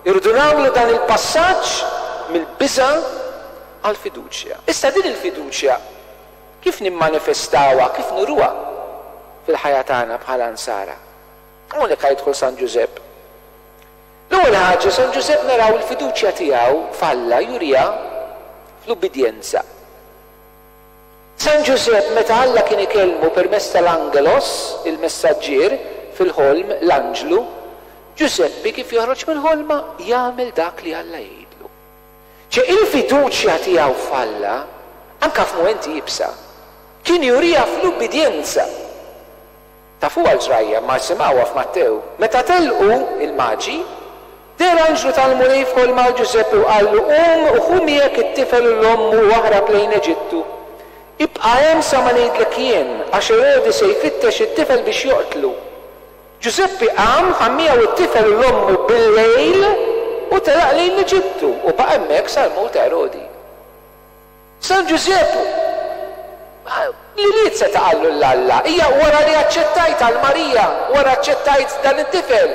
A: irridu nagħmlu dan il-passaġġ mill-biża' għall-fiduċja. Issa din il-fiduċja kif nimmanifestawha, kif nuruha fil-ħajja tagħna bħala nsara? Hawnhekk jidħol San Ġużepp. L-ewwel ħaġa, San Ġużepp naraw il-fiduċja tiegħu f'Alla juriha fl-ubbidjenza. San Ġużepp meta Alla kien ikellmu permezz tal-angelos, il-messaġġier, fil-ħolm, l-anġlu, Ġużeppi kif joħroġ mill-ħolma jagħmel dak li Alla jgħidlu. Ċe il-fiduċja tiegħu f'Alla, anka f'mumenti iebsa, kien juriha fl-ubbidjenza. Tafuha l-ġrajja, ma simgħuha f'Mattew. Meta telqu il-maġi, deher anġlu tal-Mulej f'ħolma għal Ġużeppi u qallu, qum u ħu miegħek it-tifel u l-ommu u aħrab lejn Eġittu. Ibqa' hemm sa ma ngħidlek jien, għax Erodi se jfittex it-tifel biex joqtlu. Ġużeppi qam, ħa miegħu it-tifel u l-ommu bil-lejl u telaq lejn l-Eġittu u baqa' hemmhekk sal-mewt ta' Erodi. San Ġużepp li ried seta' qallu 'l Alla, hija wara li aċċettajt għal Marija, wara aċċettajt dan it-tifel,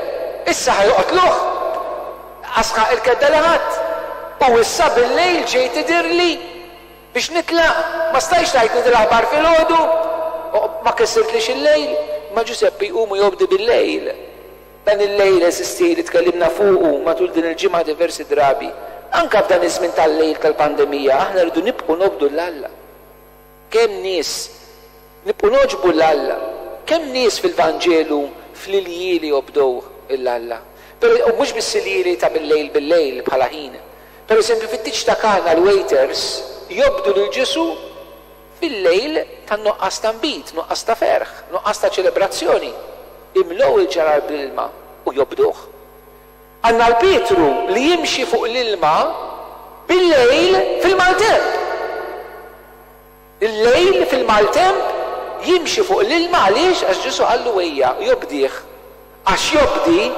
A: issa ħa joqtluh? Asħaq il-kedda li ħadd. U issa bil-lejl ġejt tidhirli biex nitlaq, ma stajtx tgħidli din l-aħbar filgħodu, ma kissirtlix il-lejl. Ma Ġużeppi jqum u jobdi bil-lejl. Dan il-lejl, għeżież tiegħi, li tkellimna fuqu matul din il-ġimgħa diversi drabi. Anka f'dan iż-żmien tal-lejl tal-pandemija, aħna rridu nibqgħu nobdu 'l Alla. Kemm nies nibqgħu noġbu 'l Alla, kemm nies fil-Vanġelu fl-iljieli jobdew 'l Alla. Però u mhux biss iljieli ta' bil-lejl bil-lejl bħala ħin. Per eżempju, fit-tieġ ta' Kana l-waiters jobdu lil Ġesù fil-lejl tan-nuqqas ta' nbid, nuqqas ta' ferħ, nuqqas ta' ċelebrazzjoni. Imlew il-ġarar bl-ilma u jobduh. Għandna l-Pietru li jimxi fuq l-ilma bil-lejl fil-maltemp. Il-lejl fil-maltemp jimxi fuq l-ilma għaliex? Għax Ġesù qallu ejja, jobdih. Għax jobdi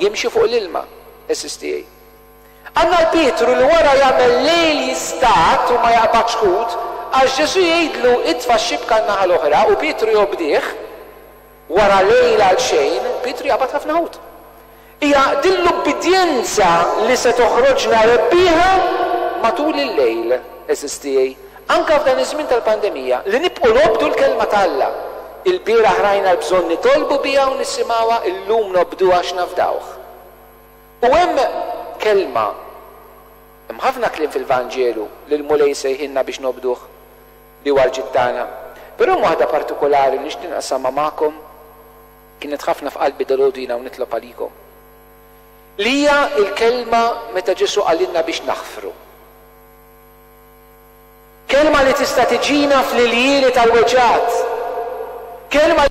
A: jimxi fuq l-ilma. Għeżież tiegħi. Għandna l-Pietru li wara jagħmel lejl jistat u ma jaqbadx ħut, għax Ġesù jgħidlu itfa' x-xibka n-naħa l-oħra u Pietru jobdih. Wara lejl għal xejn, Pietru jaqbad ħafna ħut. Hija din l-ubbidjenza li se toħroġna rebbieħa matul il-lejl, għeżież tiegħi, anke f'dan iż-żmien tal-pandemija, li nibqgħu nobdu l-kelma ta' Alla. Il-bieraħ rajna l-bżonn nitolbu biha u nisimgħuha, illum nobduha għax nafdawh. U hemm kelma, hemm ħafna kliem fil-Vanġelu li l-Mulej sejħilna biex nobduh, li huwa l-ġid tagħna. Però hemm waħda partikolari li nixtieq naqsamha magħkom, kienet ħafna f'qalbi dalgħodu jiena u nitlob għalikom. Li hija l-kelma meta Ġesù qalilna biex naħfru. Kelma li tista' tiġina fl-iljieli tal-weġgħat. Kelma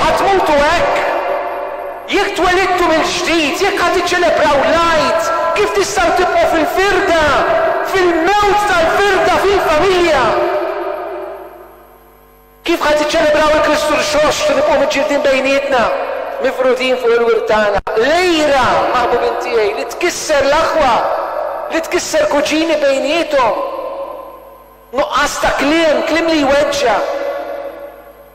A: Ħa tmutu hekk? Jekk twelidtu mill-ġdid, jekk ħa tiċċelebraw l-Għid, kif tistgħu tibqgħu fil-firda, fil-mewt tal-firda fil-familja? Kif ħa tiċċelebraw il-Kristu Rxoxt u nibqgħu miġġieldin bejnietna, mifrudin fuq il-wirt tagħna? L-għira, maħbubin tiegħi, li tkisser l-aħwa, li tkisser kuġini bejniethom. Nuqqas ta' kliem, kliem li jweġġa'.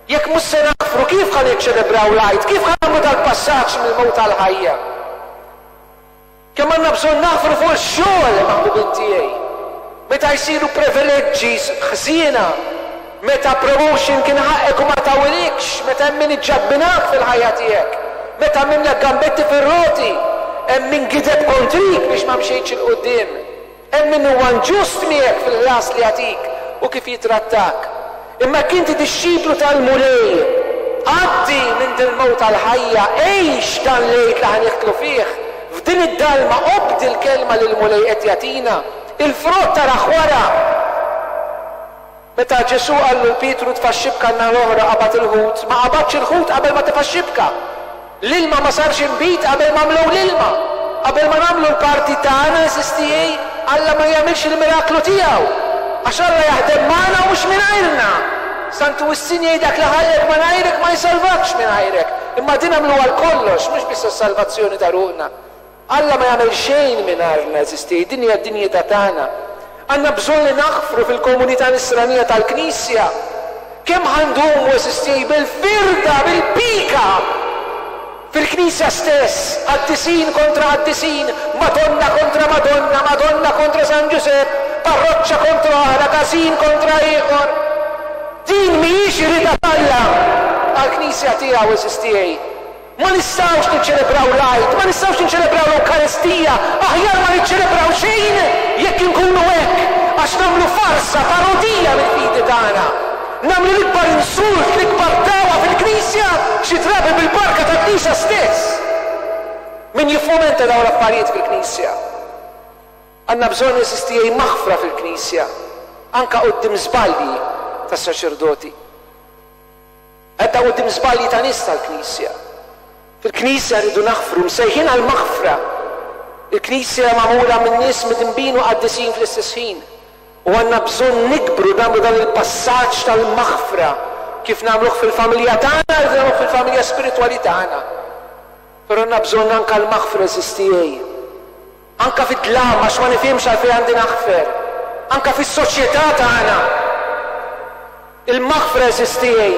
A: Jekk mhux se naħfru, kif ħa niċċelebraw l-Għid? Kif ħa nagħmlu dal-passaġġ mill-mewt għall-ħajja? Kemm għandna bżonn naħfru fuq ix-xogħol, maħbubin tiegħi. Meta jsiru privileġġi ħżiena, meta promotion kien ħaqqek u ma tawlikx, meta hemm min iġġabbinak fil-ħajja tiegħek, meta għamilna gambetti fir-roti, hemm min gideb kontrik biex ma mxejtx 'il quddiem. Hemm min huwa inġust miegħek fil-ħlas li jagħtik u kif jitrattak. Imma jekk inti dixxiplu tal-Mulej, għaddi minn dil-mewt għall-ħajja, għix dan l-Għid li ħa nidħlu fih, f'din id-dalma obdi l-kelma li l-Mulej qed jagħtina, il-frott tarah wara. Meta Ġesù qallu 'l Pietru tfa' x-xibka n-naħa l-oħra qabad il-ħut, ma qabadx il-ħut qabel ma tefa' x-xibka. L-ilma ma sarx inbid qabel ma mlew l-ilma. Qabel ma nagħmlu l-parti tagħna, għeżież tiegħi, Alla ma jagħmilx il-miraklu tiegħu. Għax Alla jaħdem magħna u mhux mingħajrna. Santu Wistin jgħid dak li ħallek minn għajrek ma jsalvakx minn għajrek. Imma din għamlu għal kollox, mhux biss is-salvazzjoni ta' ruħna. Alla ma jagħmel xejn mingħajrna, għeżież tiegħi, din hija d-dinjità tagħna. Għandna bżonn li naħfru fil-komunità nisranija tal-Knisja. Kemm ħa ndumu, għeżież tiegħi, bil-firda, bil-pika fil-Knisja stess, qaddisin kontra qaddisin, Madonna kontra Madonna, Madonna kontra San Ġużepp, parroċċa kontra oħra, każin kontra ieħor. Din mhijiex ir-rieda t'Alla għall-Knisja tiegħu, għeżież tiegħi. Ma nistgħux niċċelebraw l-Għid, ma nistgħux niċċelebraw l-Ewkaristija, aħjar ma niċċelebraw xejn jekk inkunu hekk, għax nagħmlu farsa, parodija mill-fidi tagħna. Nagħmlu l-ikbar insult, l-ikbar dagħwa fil-Knisja, xi drabi bil-barka tal-Knisja stess. Min jiffomenta dawn l-affarijiet fil-Knisja? Għandna bżonn, għeżież tiegħi, maħfra fil-Knisja, anka quddiem żbalji tas-saċerdoti. Anka quddiem żbalji ta' nies tal-Knisja. Fil-Knisja rridu naħfru, msejħin għal-maħfra. Il-Knisja magħmula minn nies midinbin u qaddisin fl-istess ħin. U għandna bżonn nikbru nagħmlu dan il-passaġġ tal-maħfra kif nagħmluh fil-familja tagħna, kif nagħmluh fil-familja spiritwali tagħna. Però għandna bżonn anka l-maħfra, għeżież tiegħi. Anka fid-dlam, għax ma nifhimx għalfejn għandi naħfer. Anka fis-soċjetà tagħna. Il-maħfra, għeżież tiegħi,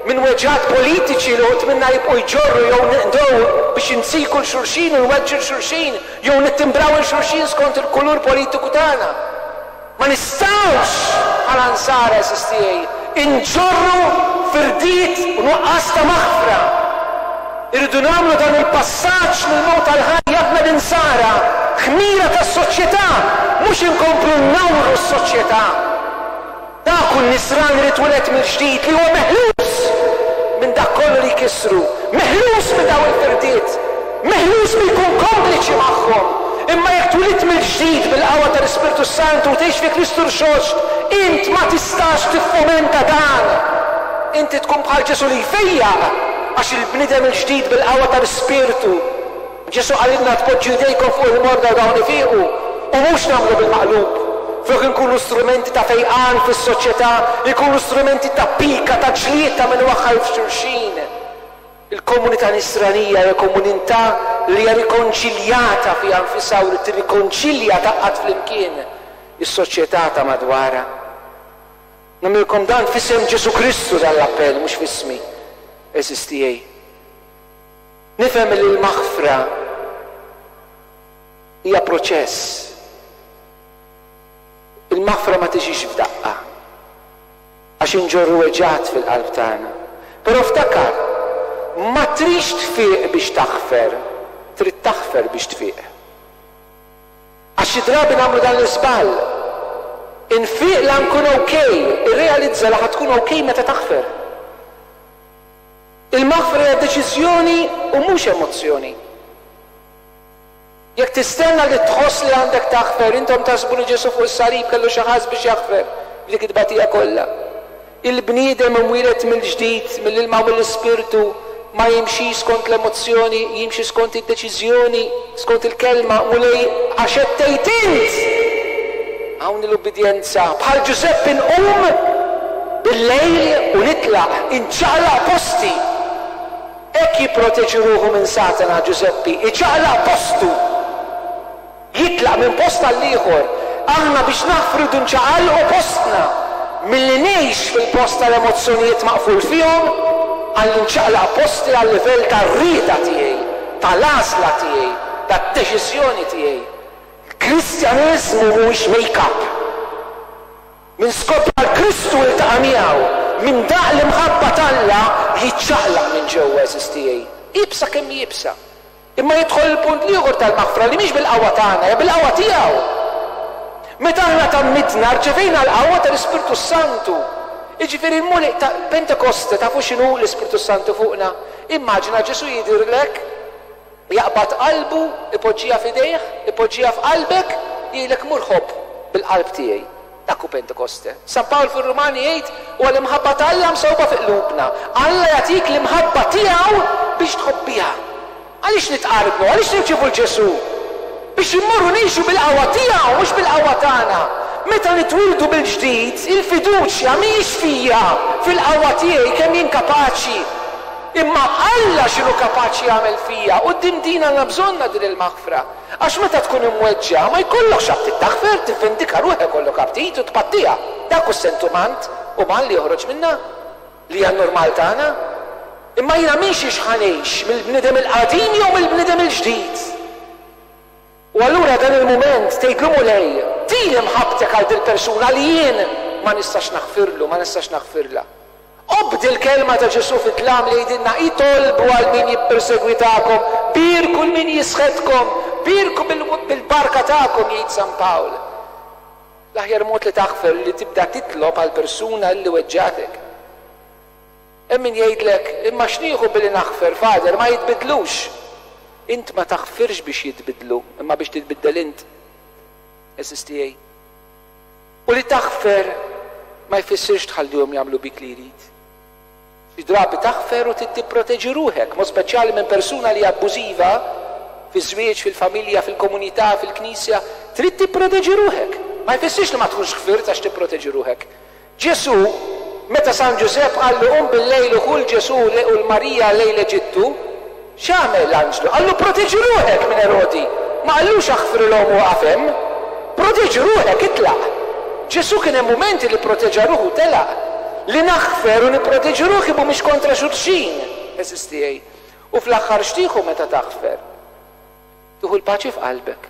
A: minn weġgħat politiċi li uħud minna jibqgħu jġorru jew nqdew biex insiku 'l xulxin u nweġġu 'l xulxin jew nittimbraw 'il xulxin skont il-kulur politiku tagħna. Ma nistgħux bħala nsara, għeżież tiegħi, inġorru firdiet u nuqqas ta' maħfra. Irridu nagħmlu dan il-passaġġ mill-mewt għall-ħajja aħna l-insara, ħmira tas-soċjetà, mhux inkomplu nnawru s-soċjetà. Dak hu n-nisrani li twieled mill-ġdid li huwa meħlus minn dak kollu li jkissru, meħlus minn dawn il-firdiet, meħlus minn jkun kompliċi magħhom. Imma jekk twilidt mill-ġdid bil-qawwa tal-Ispirtu Santu u tgħix fi Kristu Rxoxt, int ma tistax tiffomenta dan. Inti tkun bħal Ġesù li jfejjaq, għax il-bniedem il-ġdid bil-qawwa tal-Ispirtu. Ġesù qalilna tpoġġu jdejkom fuq il-morda u dawn ifiqu, u mhux nagħmlu bil-maqlub. Flok inkunu strumenti ta' fejqan fis-soċjetà, ikunu strumenti ta' pika, ta' ġlied, ta' min waħħal f'xulxin. Il-komunità nisranija hija komunità li hija rikonċiljata fiha nfisha u li tirrikonċilja tgħaqqad flimkien is-soċjetà ta' madwarha. Nagħmilkom dan f'isem Ġesù Kristu dan l-appell, mhux f'ismi, għeżież tiegħi. Nifhem li l-maħfra hija proċess. Il-maħfra ma tiġix f'daqqa, għax inġorru weġgħat fil-qalb tagħna. Però ftakar, ma tridx tfiq biex taħfer, trid taħfer biex tfiq. Għax xi drabi nagħmlu dan l-iżball. Infiq la nkun okej, irrealizza li ħa tkun okej meta taħfer. Il-maħfra hija deċiżjoni u mhux emozzjoni. Jekk tistenna li tħoss li għandek taħfer, intom taħsbu li Ġesù fuq is-salib kellu xi ħass biex jaħfer b'dik it-tbatija kollha. Il-bniedem imwieled mill-ġdid, mill-ilma u mill-ispirtu, ma jimxix skont l-emozzjoni, jimxi skont id-deċiżjoni, skont il-kelma, Mulej għax qed tgħid int. Hawn l-ubbidjenza. Bħal Ġużeppi nqum bil-lejl u nitlaq, inċaqlaq posti. Hekk jipproteġi ruħu minn Satana Ġużeppi, iċaqlaq postu. Jitlaq minn post għal ieħor. Aħna biex naħfru rridu nċaqalqu postna. Milli ngħix fil-post tal-emozzjonijiet maqful fihom, għal nċaqlaq posti għal livell tar-rieda tiegħi, tal-għażla tiegħi, tad-deċiżjoni tiegħi. Kristjaneżmu mhuwiex make-up. Min skopra 'l Kristu iltaqa' miegħu, min daq l-imħabba t'Alla jiċċaqlaq minn ġewwa, għeżież tiegħi. Iebsa kemm iebsa. Imma jidħol il-punt l-ieħor tal-maħfra li mhix bil-qawwa tagħna, hija bil-qawwa tiegħu. Meta aħna tgħammidna rċevejna l-qawwa tal-Ispirtu Santu. Jiġifieri l-Mulej ta' Pentekoste tafu x'inhu l-Ispirtu Santu fuqna? Immaġina Ġesù jidhirlek, jaqbad qalbu, ipoġġiha f'idejh, ipoġġiha f'qalbek, jgħidlek mur ħobb bil-qalb tiegħi. Dak hu Pentekoste. San Pawl fir-Rumani jgħid huwa l-imħabba ta' Alla msewba fi qlubna. Alla jagħtik l-imħabba tiegħu biex tħobbiha. Għaliex nitqarbnu? Għaliex nirċievu 'l Ġesù? Biex immorru ngħixu bil-qawwa tiegħu, mhux bil-qawwa tagħna. Meta nitwildu bil-ġdid, il-fiduċja mhijiex fija, fil-qawwa tiegħi kemm jien kapaċi. Imma Alla x'inhu kapaċi jagħmel fija, u din din għandna bżonnha din il-maħfra. Għax meta tkun imweġġa' ma jkollokx aptit taħfer, tivvindika ruħek kollok aptit u tpattiha. Dak hu s-sentiment uman li joħroġ minna, li hija normal tagħna. Imma jiena minn xiex ħa ngħix, mill-bniedem il-qadim jew mill-bniedem il-ġdid? U allura dan il-mument tgħidlu Mulej, tini mħabbtek għal dil-persuna li jien ma nistax naħfirlu, ma nistax naħfirla. Obdi l-kelma ta' Ġesù fid-dlam li jgħidilna itolbu għal min jippersegwitakom, bierku 'l min jisħetkom, bierku bil-barka tagħkom, jgħid San Pawl. L-aħjar mod li taħfer li tibda titlob għal persuna li weġġatek. Hemm min jgħidlek, imma x'nieħu billi naħfer, Father, ma jitbidlux. Int ma taħfirx biex jitbidlu, imma biex titbiddel int. Għeżież tiegħi. U li taħfer ma jfissirx tħallihom jagħmlu bik li jrid. Xi drabi taħfer u tipproteġi ruħek, mod speċjali minn persuna li abbużiva fiż-żwieġ, fil-familja, fil-komunità, fil-knisja, trid tipproteġi ruħek. Ma jfissirx li ma tkunx ħfirt għax tipproteġi ruħek. Ġesù, meta San Ġużepp qallu qum bil-lejl u ħu 'l Ġesù u l-Marija lejn l-Eġittu, x'għamel l-anġlu? Qallu proteġi ruħek minn Erodi. Ma qallux aħfrilhom u waqaf hemm. Proteġi ruħek, itlaq. Ġesù kien hemm mumenti li proteġa ruħu telaq. Li naħfer u nipproteġi ruħi mhumiex kontra xulxin, għeżież tiegħi. U fl-aħħar x'tieħu meta taħfer? Tieħu l-paċi f'qalbek.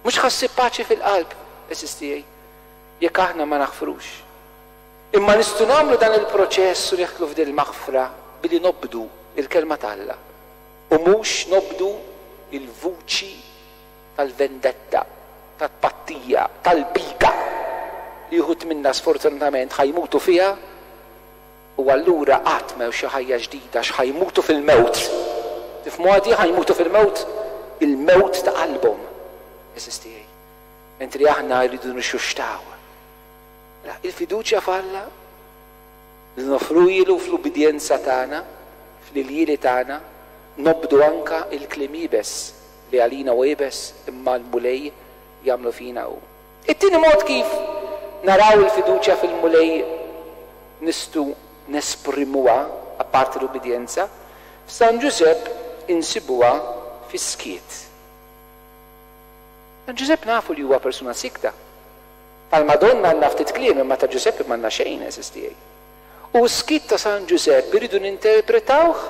A: Mhux ħa ssib paċi fil-qalb, għeżież tiegħi, jekk aħna ma naħfrux. Imma nistgħu nagħmlu dan il-proċess u neħtlu f'din il-maħfra billi nobdu il-kelma t'Alla u mhux nobdu il-vuċi tal-vendetta, tat-pattija, tal-bika li uħud minna sfortunatament ħa jmutu fiha, u allura qatt m'hemm xi ħajja ġdida x'ħa jmutu fil-mewt. Tifhmu għadi ħa jmutu fil-mewt? Il-mewt ta' qalbhom, għeżież tiegħi. Mentri aħna rridu nixuxtaw. Il-fiduċja f'Alla li nofruhielu fl-ubbidjenza tagħna, fl-iljieli tagħna, nobdu anka il-kliem iebes li għalina u iebes imma l-Mulej jagħmlu fina hu. It-tieni mod kif naraw il-fiduċja fil-Mulej nistgħu nesprimuha, apparti l-ubbidjenza, f'San Ġużepp insibuha fis-skiet. San Ġużepp nafu li huwa persuna sikta. Tal-Madonna għandna ftit kliem, imma ta' Ġużeppi m'għandna xejn, għeżież tiegħi. U s-skiet ta' San Ġużepp iridu ninterpretawh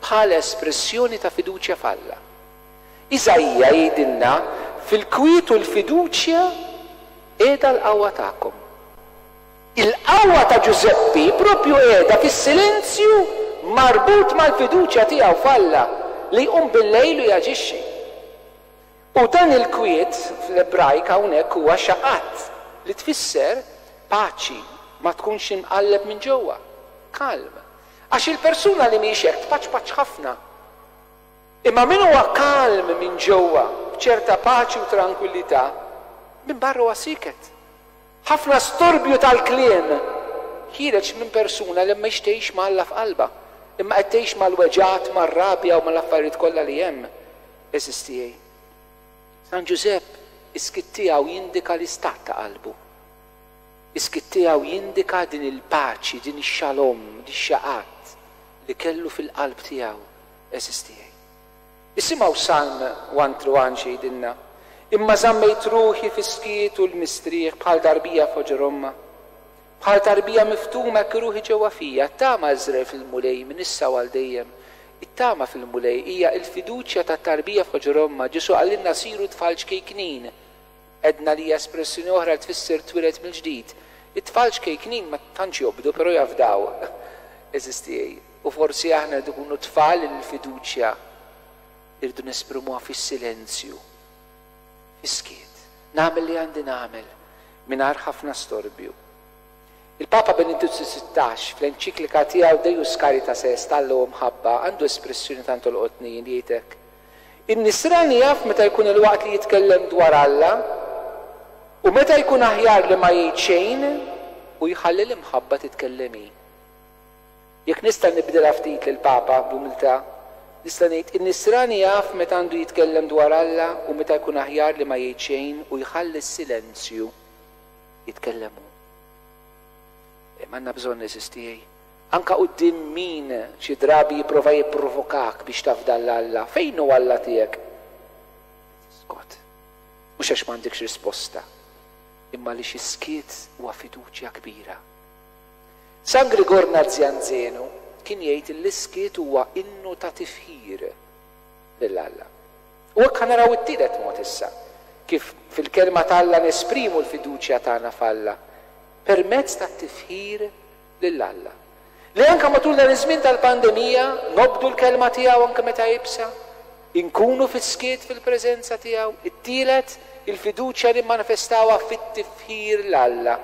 A: bħala espressjoni ta' fiduċja f'Alla. Iżaija jgħidilna fil-kwiet u l-fiduċja qiegħda l-qawwa tagħkom. Il-qawwa ta' Ġużeppi propju qiegħda fis-silenzju marbut mal-fiduċja tiegħu f'Alla li jqum bil-lejl u jaġixxi. U dan il-kwiet fl-Ebrajk hawnhekk huwa xaqat li tfisser paċi, ma tkunx imqalleb minn ġewwa, kalm. Għax il-persuna li mhix hekk tpaċpaċ ħafna. Imma min huwa kalm minn ġewwa, b'ċerta paċi u tranquillità, minn barra huwa siket. Ħafna storbju tal-kliem ħiereġ minn persuna li mhix tgħix ma' Alla f'qalbha, imma qed tgħix mal-weġgħat, mar-rabja u mal-affarijiet kollha li hemm. Għeżież tiegħi. San Ġużepp is-skiet tiegħu jindika l-istat ta' qalbu. Is-skiet tiegħu jindika din il-paċi, din ix-xalom, din ix-xaqat li kellu fil-qalb tiegħu, għeżież tiegħi. Isimgħu Salm one through one xi jgħidilna. Imma żammejt ruħi fis-skiet u l-mistrieħ bħal tarbija f'ħoġor ommha. Bħal tarbija miftuma hekk ruħi ġewwa fija, tama Iżrael fil-Mulej minn issa u għal dejjem. It-tama fil-Mulej hija l-fiduċja ta' tarbija f'ħoġor ommha. Ġesù qalilna siru tfal ċkejknin. Edna li hija espressjoni oħra li tfisser twieled mill-ġdid. It-tfal ċkejknin ma tantx jobdu, però jafdaw. Għeżież tiegħi. U forsi aħna rridu nkunu tfal il-fiduċja irridu nesprimuha fis-silenzju, fis-skiet. Nagħmel li għandi nagħmel mingħajr ħafna storbju. Il-Papa Benedittu sittax fl-enċiklika tiegħu Deus Caritas Est, Alla u Mħabba, għandu espressjoni tant tolqotni li jgħid hekk. In-nisrani jaf meta jkun il-waqt li jitkellem dwar Alla u meta jkun aħjar li ma jgħid xejn u jħalli l-imħabba titkellem hi. Jekk nista' nibdilha ftit lill-Papa b'umiltà, Nista' ngħid, in-nisrani jaf meta għandu jitkellem dwar Alla u meta jkun aħjar li ma jgħid xejn u jħalli s-silenzju jitkellem hu. M'għandna bżonn, għeżież tiegħi. Anka quddiem min xi drabi jipprova jipprovokak biex tafda 'l Alla. Fejn hu Alla tiegħek? Skot. Mhux għax m'għandekx risposta, imma li xi skiet huwa fiduċja kbira. San Grigor Nazianzenu kien jgħid li s-skiet huwa innu ta' tifħir lil Alla. U hekk naraw it-tielet mod issa, kif fil-kelma t'Alla nesprimu l-fiduċja tagħna f'Alla permezz tat-tifħir lil Alla. Li anka matul dan iż-żmien tal-pandemija nobdu l-kelma tiegħu anke meta iebsa, inkunu fis-skiet fil-preżenza tiegħu. It-tielet, il-fiduċja li manifestawha fit-tifħir 'l Alla.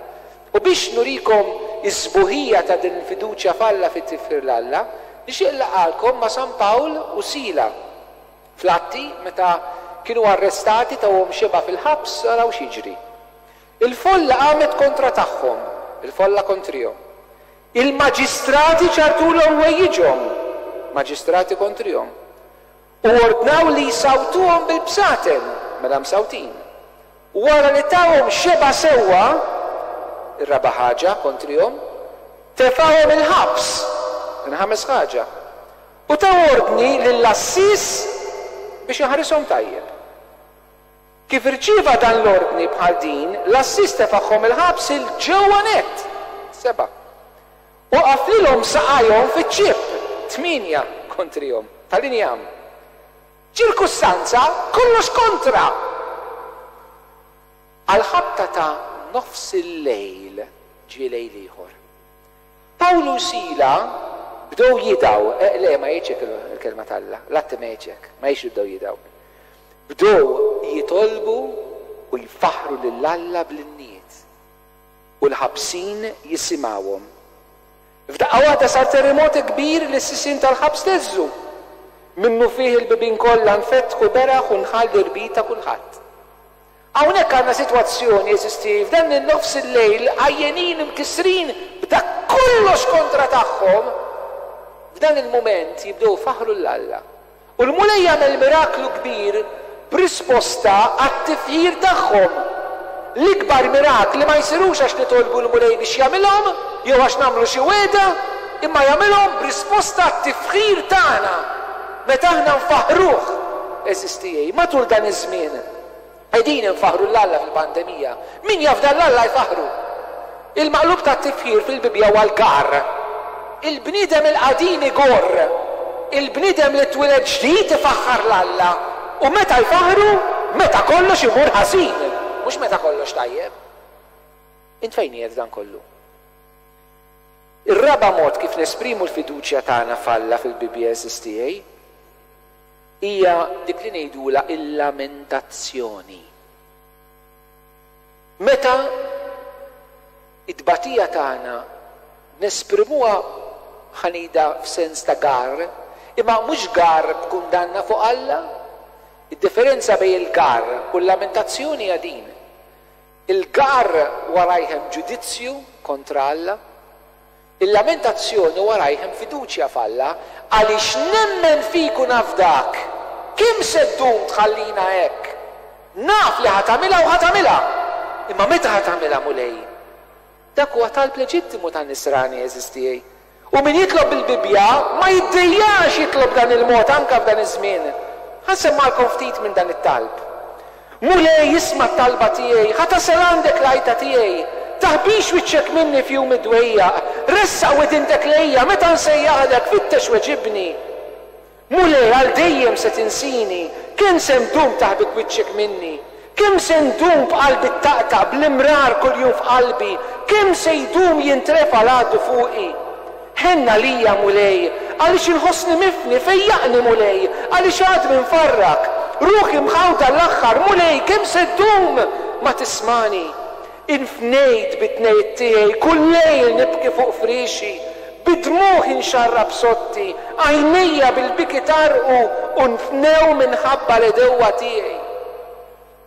A: U biex nurikom iż-sbuħija ta' din il-fiduċja f'Alla fit-tifħir 'l Alla, nixtieq nlaqqagħkom ma' San Pawl u Sila. Fl-Atti, meta kienu arrestati tawhom xebgħa fil-ħabs, araw x'jiġri. Il-folla qamet kontra tagħhom, il-folla kontrihom. Il-maġistrati ċarrtulhom ħwejjiġhom, maġistrati kontrihom. U ordnaw li jsawtuhom bil-bsaten, mela msawtin. Wara li tawhom xebgħa sewwa, ir-raba' ħaġa kontrihom, tefgħuhom il-ħabs, il-ħames ħaġa. U taw ordni lill-għassies biex jaħrishom tajjeb. Kif irċieva dan l-ordni bħal din, l-għassies tefagħhom il-ħabs 'il ġewwa nett. Seba'. U qaflilhom saqajhom fiċ-ċipp, tmienja kontrihom, tal-injam. Ċirkustanza kollox kontra. Għal-ħabta ta' nofs il-lejl ġie lejl ieħor. Pawlu u Sila bdew jidgħu, eh, le ma jgħidx il-kelma t'Alla, l-Atti ma jgħidx ma jgħidx bdew jidgħu. Bdew jitolbu u jfaħru lil Alla bl-innijiet. U l-ħabsin jisimgħuhom. F'daqqa waħda sar terremot kbir li s-sisien tal-ħabs theżżu. Minnufih il-bibien kollha nfetħu beraħ u nħall l-irbit ta' kulħadd. Hawnhekk għandna sitwazzjoni, għeżież tiegħi, f'dan il-nofs il-lejl, għajjenin imkissrin b'dak kollox kontra tagħhom, f'dan il-mument jibdew ifaħħru 'l Alla. U l-Mulej jagħmel miraklu kbir b'risposta għat-tifħir tagħhom. L-ikbar mirakli ma jsirux għax nitolbu l-Mulej biex jagħmilhom jew għax nagħmlu xi wegħda, imma jagħmilhom b'risposta għat-tifħir tagħna. Meta aħna nfaħħruh, għeżież tiegħi, matul dan iż-żmien qegħdin infaħħru 'l Alla fil-pandemija. Min jafda 'l Alla jfaħħru. Il-maqlub tat-tifħir fil-Bibbja huwa l-gar. Il-bniedem il-qadim igorr. Il-bniedem li twieled ġdid ifaħħar 'l Alla. U meta jfaħħru? Meta kollox imur ħażin, mhux meta kollox tajjeb. Int fejn qiegħed dan kollu? Ir-raba' mod kif nesprimu l-fiduċja tagħna f'Alla fil-Bibbja, għeżież tiegħi, hija dik li ngħidulha il-lamentazzjoni. Meta it-tbatija tagħna nesprimuha ħa ngħidha f'sens ta' gar, imma mhux gar b'kundanna fuq Alla. Id-differenza bejn il-gar u l-lamentazzjoni hija din. Il-gar warajh hemm ġudizzju kontra Alla. Il-lamentazzjoni warajh hemm fiduċja f'Alla, għaliex nemmen fik u nafdak. Kemm se ddum tħallina hekk? Naf li ħa tagħmilha u ħa tagħmilha. Imma meta ħa tagħmilha, Mulej? Dak huwa talb leġittimu tan-nisrani, għeżież tiegħi. U min jitlob bil-Bibbja ma jiddejjax jitlob dan il-mod anke f'dan iż-żmien. Ħa nsemmalkom ftit minn dan it-talb. Mulej, isma' t-talba tiegħi, ħa tasal għandek l-għajta tiegħi. Taħbix wiċċek minni f'jum id-dwejjaq, ressaq widintek lejja, meta nsejjaħlek, fittex weġibni. Mulej, għal dejjem se tinsini, kemm se ndum taħbik wiċċek minni? Kemm se ndum b'qalbi ttaqtaq, bl-imrar kuljum f'qalbi, kemm se jdum jintrefa' l-għadu fuqi? Ħenn għalija, Mulej, għaliex inħossni mifni, fejjaqni, Mulej, għaliex għadmi mfarrak. Ruħi mħawda l-aħħar, Mulej, kemm se ddum ma tismagħni? Infnejt bit-tnejt tiegħi, kull lejl nibki fuq friexi, bid-dmugħ inxarrab sotti, għajnejja bil-biki tgħarrqu u nfnew minħabba l-għedewwa tiegħi.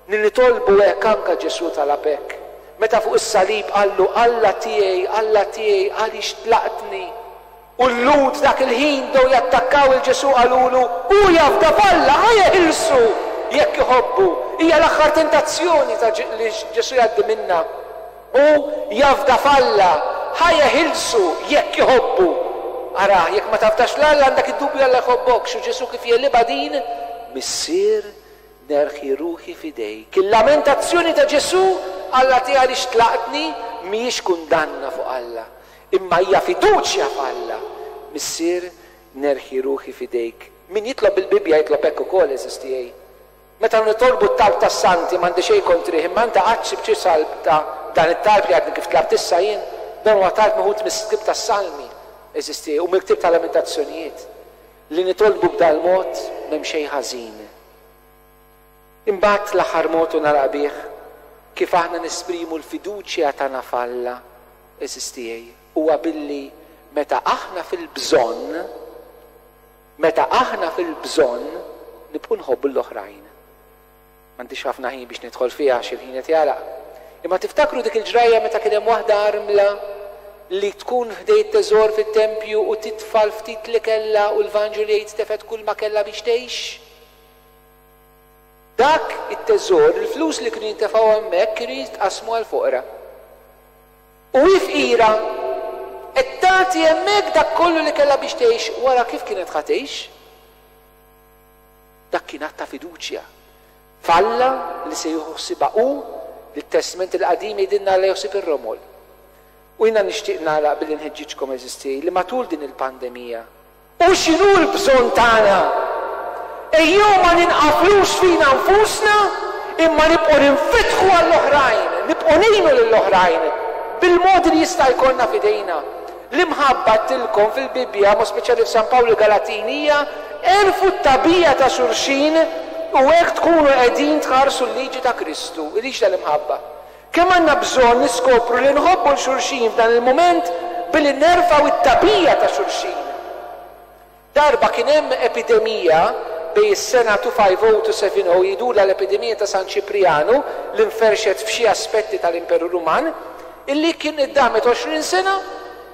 A: Li nitolbu hekk anke Ġesù talab hekk, meta fuq is-salib qallu, Alla tiegħi, Alla tiegħi, għaliex tlaqtni? U l-Lhud dak il-ħin bdew jattakkaw 'il Ġesù qalulu, hu jafda f'Alla, ħa jeħilsu jekk iħobbu. Hija l-aħħar tentazzjoni ta' li Ġesù jgħaddi minnha. Hu jafda f'Alla, ħa jeħilsu jekk iħobbu. Ara, jekk ma tafdax f'Alla għandek id-dubju Alla jħobbokx. U Ġesù kif jegħlibha din? Missier, nerħi ruħi f'idejk. Il-lamentazzjoni ta' Ġesù, Alla tiegħi għaliex tlaqtni, mhijiex kundanna fuq Alla, imma hija fiduċja f'Alla. Missier, nerħi ruħi f'idejk. Min jitlob bil-Bibbja jitlob hekk ukoll, għeżież tiegħi. Meta nitolbu t-talb tas-santi m'għandi xejn kontrih, imma inta qatt sibt xi salb ta' dan it-talb li għadni kif tlabt issa jien? Dan huwa talb meħud mill-ktieb tas-Salmi, għeżież tiegħi, u mill-ktieb tal-Lamentazzjonijiet. Li nitolbu b'dal-mod m'hemm xejn ħażin. Imbagħad l-aħħar mod u nagħlaq bih, kif aħna nesprimu l-fiduċja tagħna f'Alla, għeżież tiegħi, huwa billi meta aħna fil-bżonn, meta aħna fil-bżonn nibqgħu nħobbu l-oħrajn. M'għandix ħafna ħin biex nidħol fiha għax il-ħin qed jagħlaq. Imma tiftakru dik il-ġrajja meta kien hemm waħda armla li tkun ħdejn it-teżor fit-tempju u titfa' l-ftit li kellha u l-Vanġelu jgħid tefgħet kull ma kellha biex tgħix? Dak it-teżor, il-flus li kienu jintefgħu hemmhekk kienu jitqasmu għall-foqra. U hi fqira qed tagħti hemmhekk dak kollu li kellha biex tgħix, wara kif kienet ħa tgħix? Dak kien att ta' fiduċja f'Alla li se jieħu ħsiebha hu, li t-Testment il-Qadim jgħidilna Alla jaħsib ir-romol. U jiena nixtieq nagħlaq billi nħeġġiġkom, għeżież tiegħi, li matul din il-pandemija, u x'inhu l-bżonn tagħna, ejjew ma ninqaflux fina nfusna, imma nibqgħu ninfetħu għall-oħrajn, nibqgħu ngħinu lill-oħrajn bil-modi li jista' jkollna f'idejna. L-imħabba għedtilkom fil-Bibbja, mod speċjali f'San Pawl il-Galatin, hija erfgħu t-tagħbija ta' xulxin u hekk tkunu qegħdin tħarsu l-liġi ta' Kristu, il-liġi tal-imħabba. Kemm għandna bżonn niskopru li nħobbu 'l xulxin f'dan il-mument billi nerfgħu it-tagħbija ta' xulxin. Darba kien hemm epidemija bejn is-sena two fifty to seventy, jgħidulha l-epidemija ta' San Ċiprianu, li nferxet f'xi aspetti tal-Imperu Ruman, illi kien iddamet għoxrin sena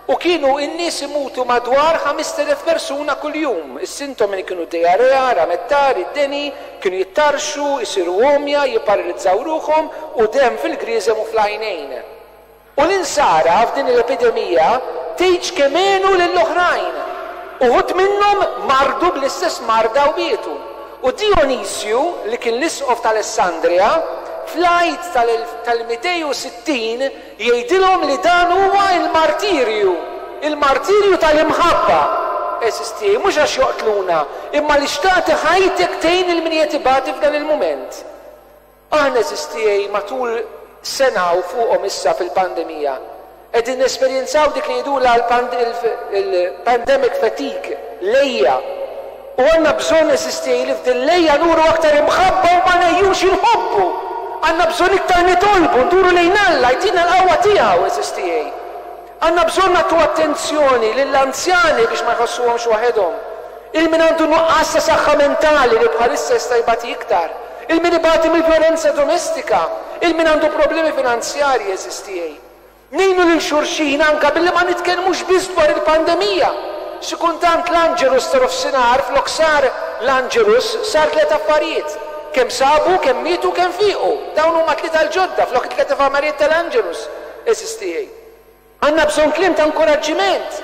A: u kienu n-nies imutu madwar ħamest elef persuna kuljum. Is-sintomi kienu diarrea, ramettar, id-deni, kienu jittarxu, isiru għomja, jipparalizzaw ruħhom u dem fil-griżem u fl-għajnejn. U l-insara f'din l-epidemija tgħidx kemm għenu lill-oħrajn. Uħud minnhom mardu bl-istess marda u mietu. U Dionisju, li kien l-isqof tal-Alessandria, fl-Għid tal-mitejn u sittin jgħidilhom li dan huwa il-martirju, il-martirju tal-imħabba. Għeżież tiegħi, mhux għax joqtluna, imma li xtaqt ħajtek tgħin lil min ibati f'dan il-mument. Aħna, għeżież tiegħi, matul sena u fuqhom issa fil-pandemija, qegħdin nesperjenzaw dik li jgħidulha il-pandemic fatigue, l-għeja. U għandna bżonn, għeżież tiegħi, li f'din l-għeja nuru aktar imħabba u ma negħjux inħobbu. Għandna bżonn iktar nitolbu, nduru lejn Alla, jtina l-qawwa tiegħu, għeżież tiegħi. Għandna bżonn nagħtu attenzjoni lill-anzjani biex ma jħossuhomx waħedhom. Lil min għandu nuqqas ta' saħħa mentali li bħalissa jista' jbati iktar. Lil min ibati mill-vjolenza domestika. Lil min għandu problemi finanzjarji, għeżież tiegħi. Ngħinu lil xulxin anka billi ma nitkellmux biss dwar il-pandemija. Xi kultant l-Angelus ta' nofsinhar flok sar l-Angelus sar tliet affarijiet. Kemm sabu, kemm mietu, kemm fiqu. Dawn huma tlieta l-ġodda flok it-tliet affarijiet tal-Angelus, għeżież tiegħi. Għandna bżonn kliem ta' inkoraġġiment.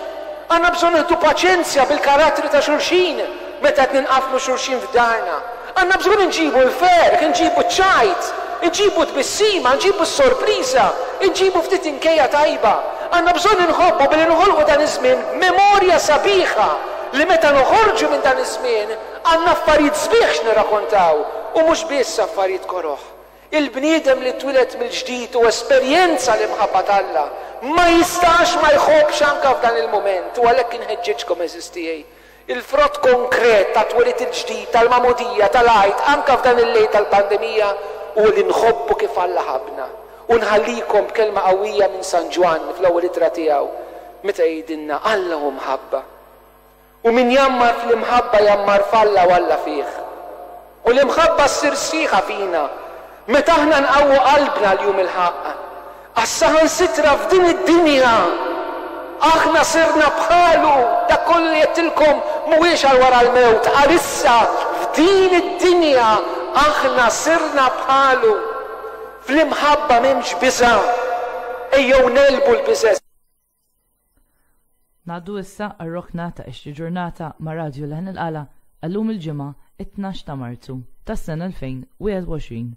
A: Għandna bżonn nieħdu paċenzja bil-karattri ta' xulxin meta qed ninqaflu xulxin f'darna. Għandna bżonn nġibu l-ferħ, nġibu ċajt, nġibu tbissima, nġibu s-sorpriża, nġibu ftit inkejja tajba. Għandna bżonn inħobbu billi noħolqu dan iż-żmien memorja sabiħa li meta noħorġu minn dan iż-żmien għandna affarijiet sbieħ x'nirrakkontaw u mhux biss affarijiet koroħ. Il-bniedem li twieled mill-ġdid u esperjenza l-imħabba t'Alla ma jistax ma jħobbx anka f'dan il-moment, u għalhekk inħeġġeġkom, għeżież tiegħi. Il-frott konkret ta' twelid il-ġdid, tal-magħmudija, tal-Għid, anka f'dan il-lejl tal-pandemija, u li nħobbu kif Alla ħabna. U nħallikom b'kelma qawwija minn San Ġwann fl-ewwel ittra tiegħu meta jgħidilna Alla hu mħabba. U min jgħammar fl-imħabba jgħammar f'Alla u Alla fih. U l-imħabba ssir sħiħa fina meta aħna nqawwu qalbna l-jum il-ħaqq. Għax saħansitra f'din id-dinja Aħna sirna bħalu. Dak kollu li għedtilkom mhuwiex għal wara l-mewt, għalissa f'din id-dinja aħna sirna bħalu. Fl-imħabba m'hemmx biża'. Ejjew negħlbu l-biża'.
B: Ngħaddu issa għar-rokna ta' Ixtri Ġurnata ma' Radju Leħen il-Qala għallum il-Ġimgħa it-tnax ta' Marzu tas-sena elfejn wieħed u għoxrin.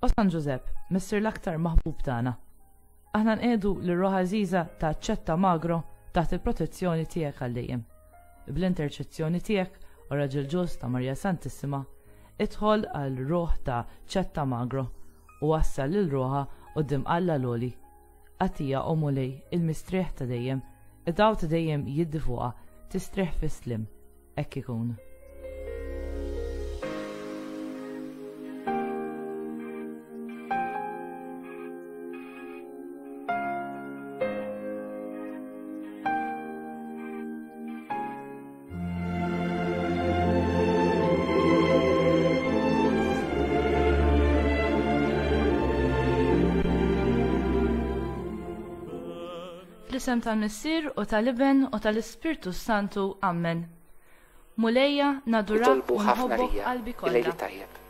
B: O San Ġużepp, Missier l-aktar maħbub tagħna, aħna nqiegħdu lir-ruħ għażiża ta' Ċetta Magro taħt il-protezzjoni tiegħek għal dejjem. Bl-interċezzjoni tiegħek, o Raġel Ġust ta' Marija Santissima, idħol għal ruħ ta' Ċetta Magro u wassal lil ruħha quddiem Alla l-Għoli. Għatija, o Mulej, il-mistrieħ ta' dejjem, id-dawl ta' dejjem jiddi fuqha, tistrieħ fis-slim. Hekk ikun. Fl-isem tal-Missier u tal-Iben u tal-Ispirtu Santu. Amen. Mulejja, nadurak
A: Nitolbu
B: u
A: ħafna
B: nħobbok
A: lija.
B: qalbi
A: Il-lejl
B: kollha.
A: tajjeb.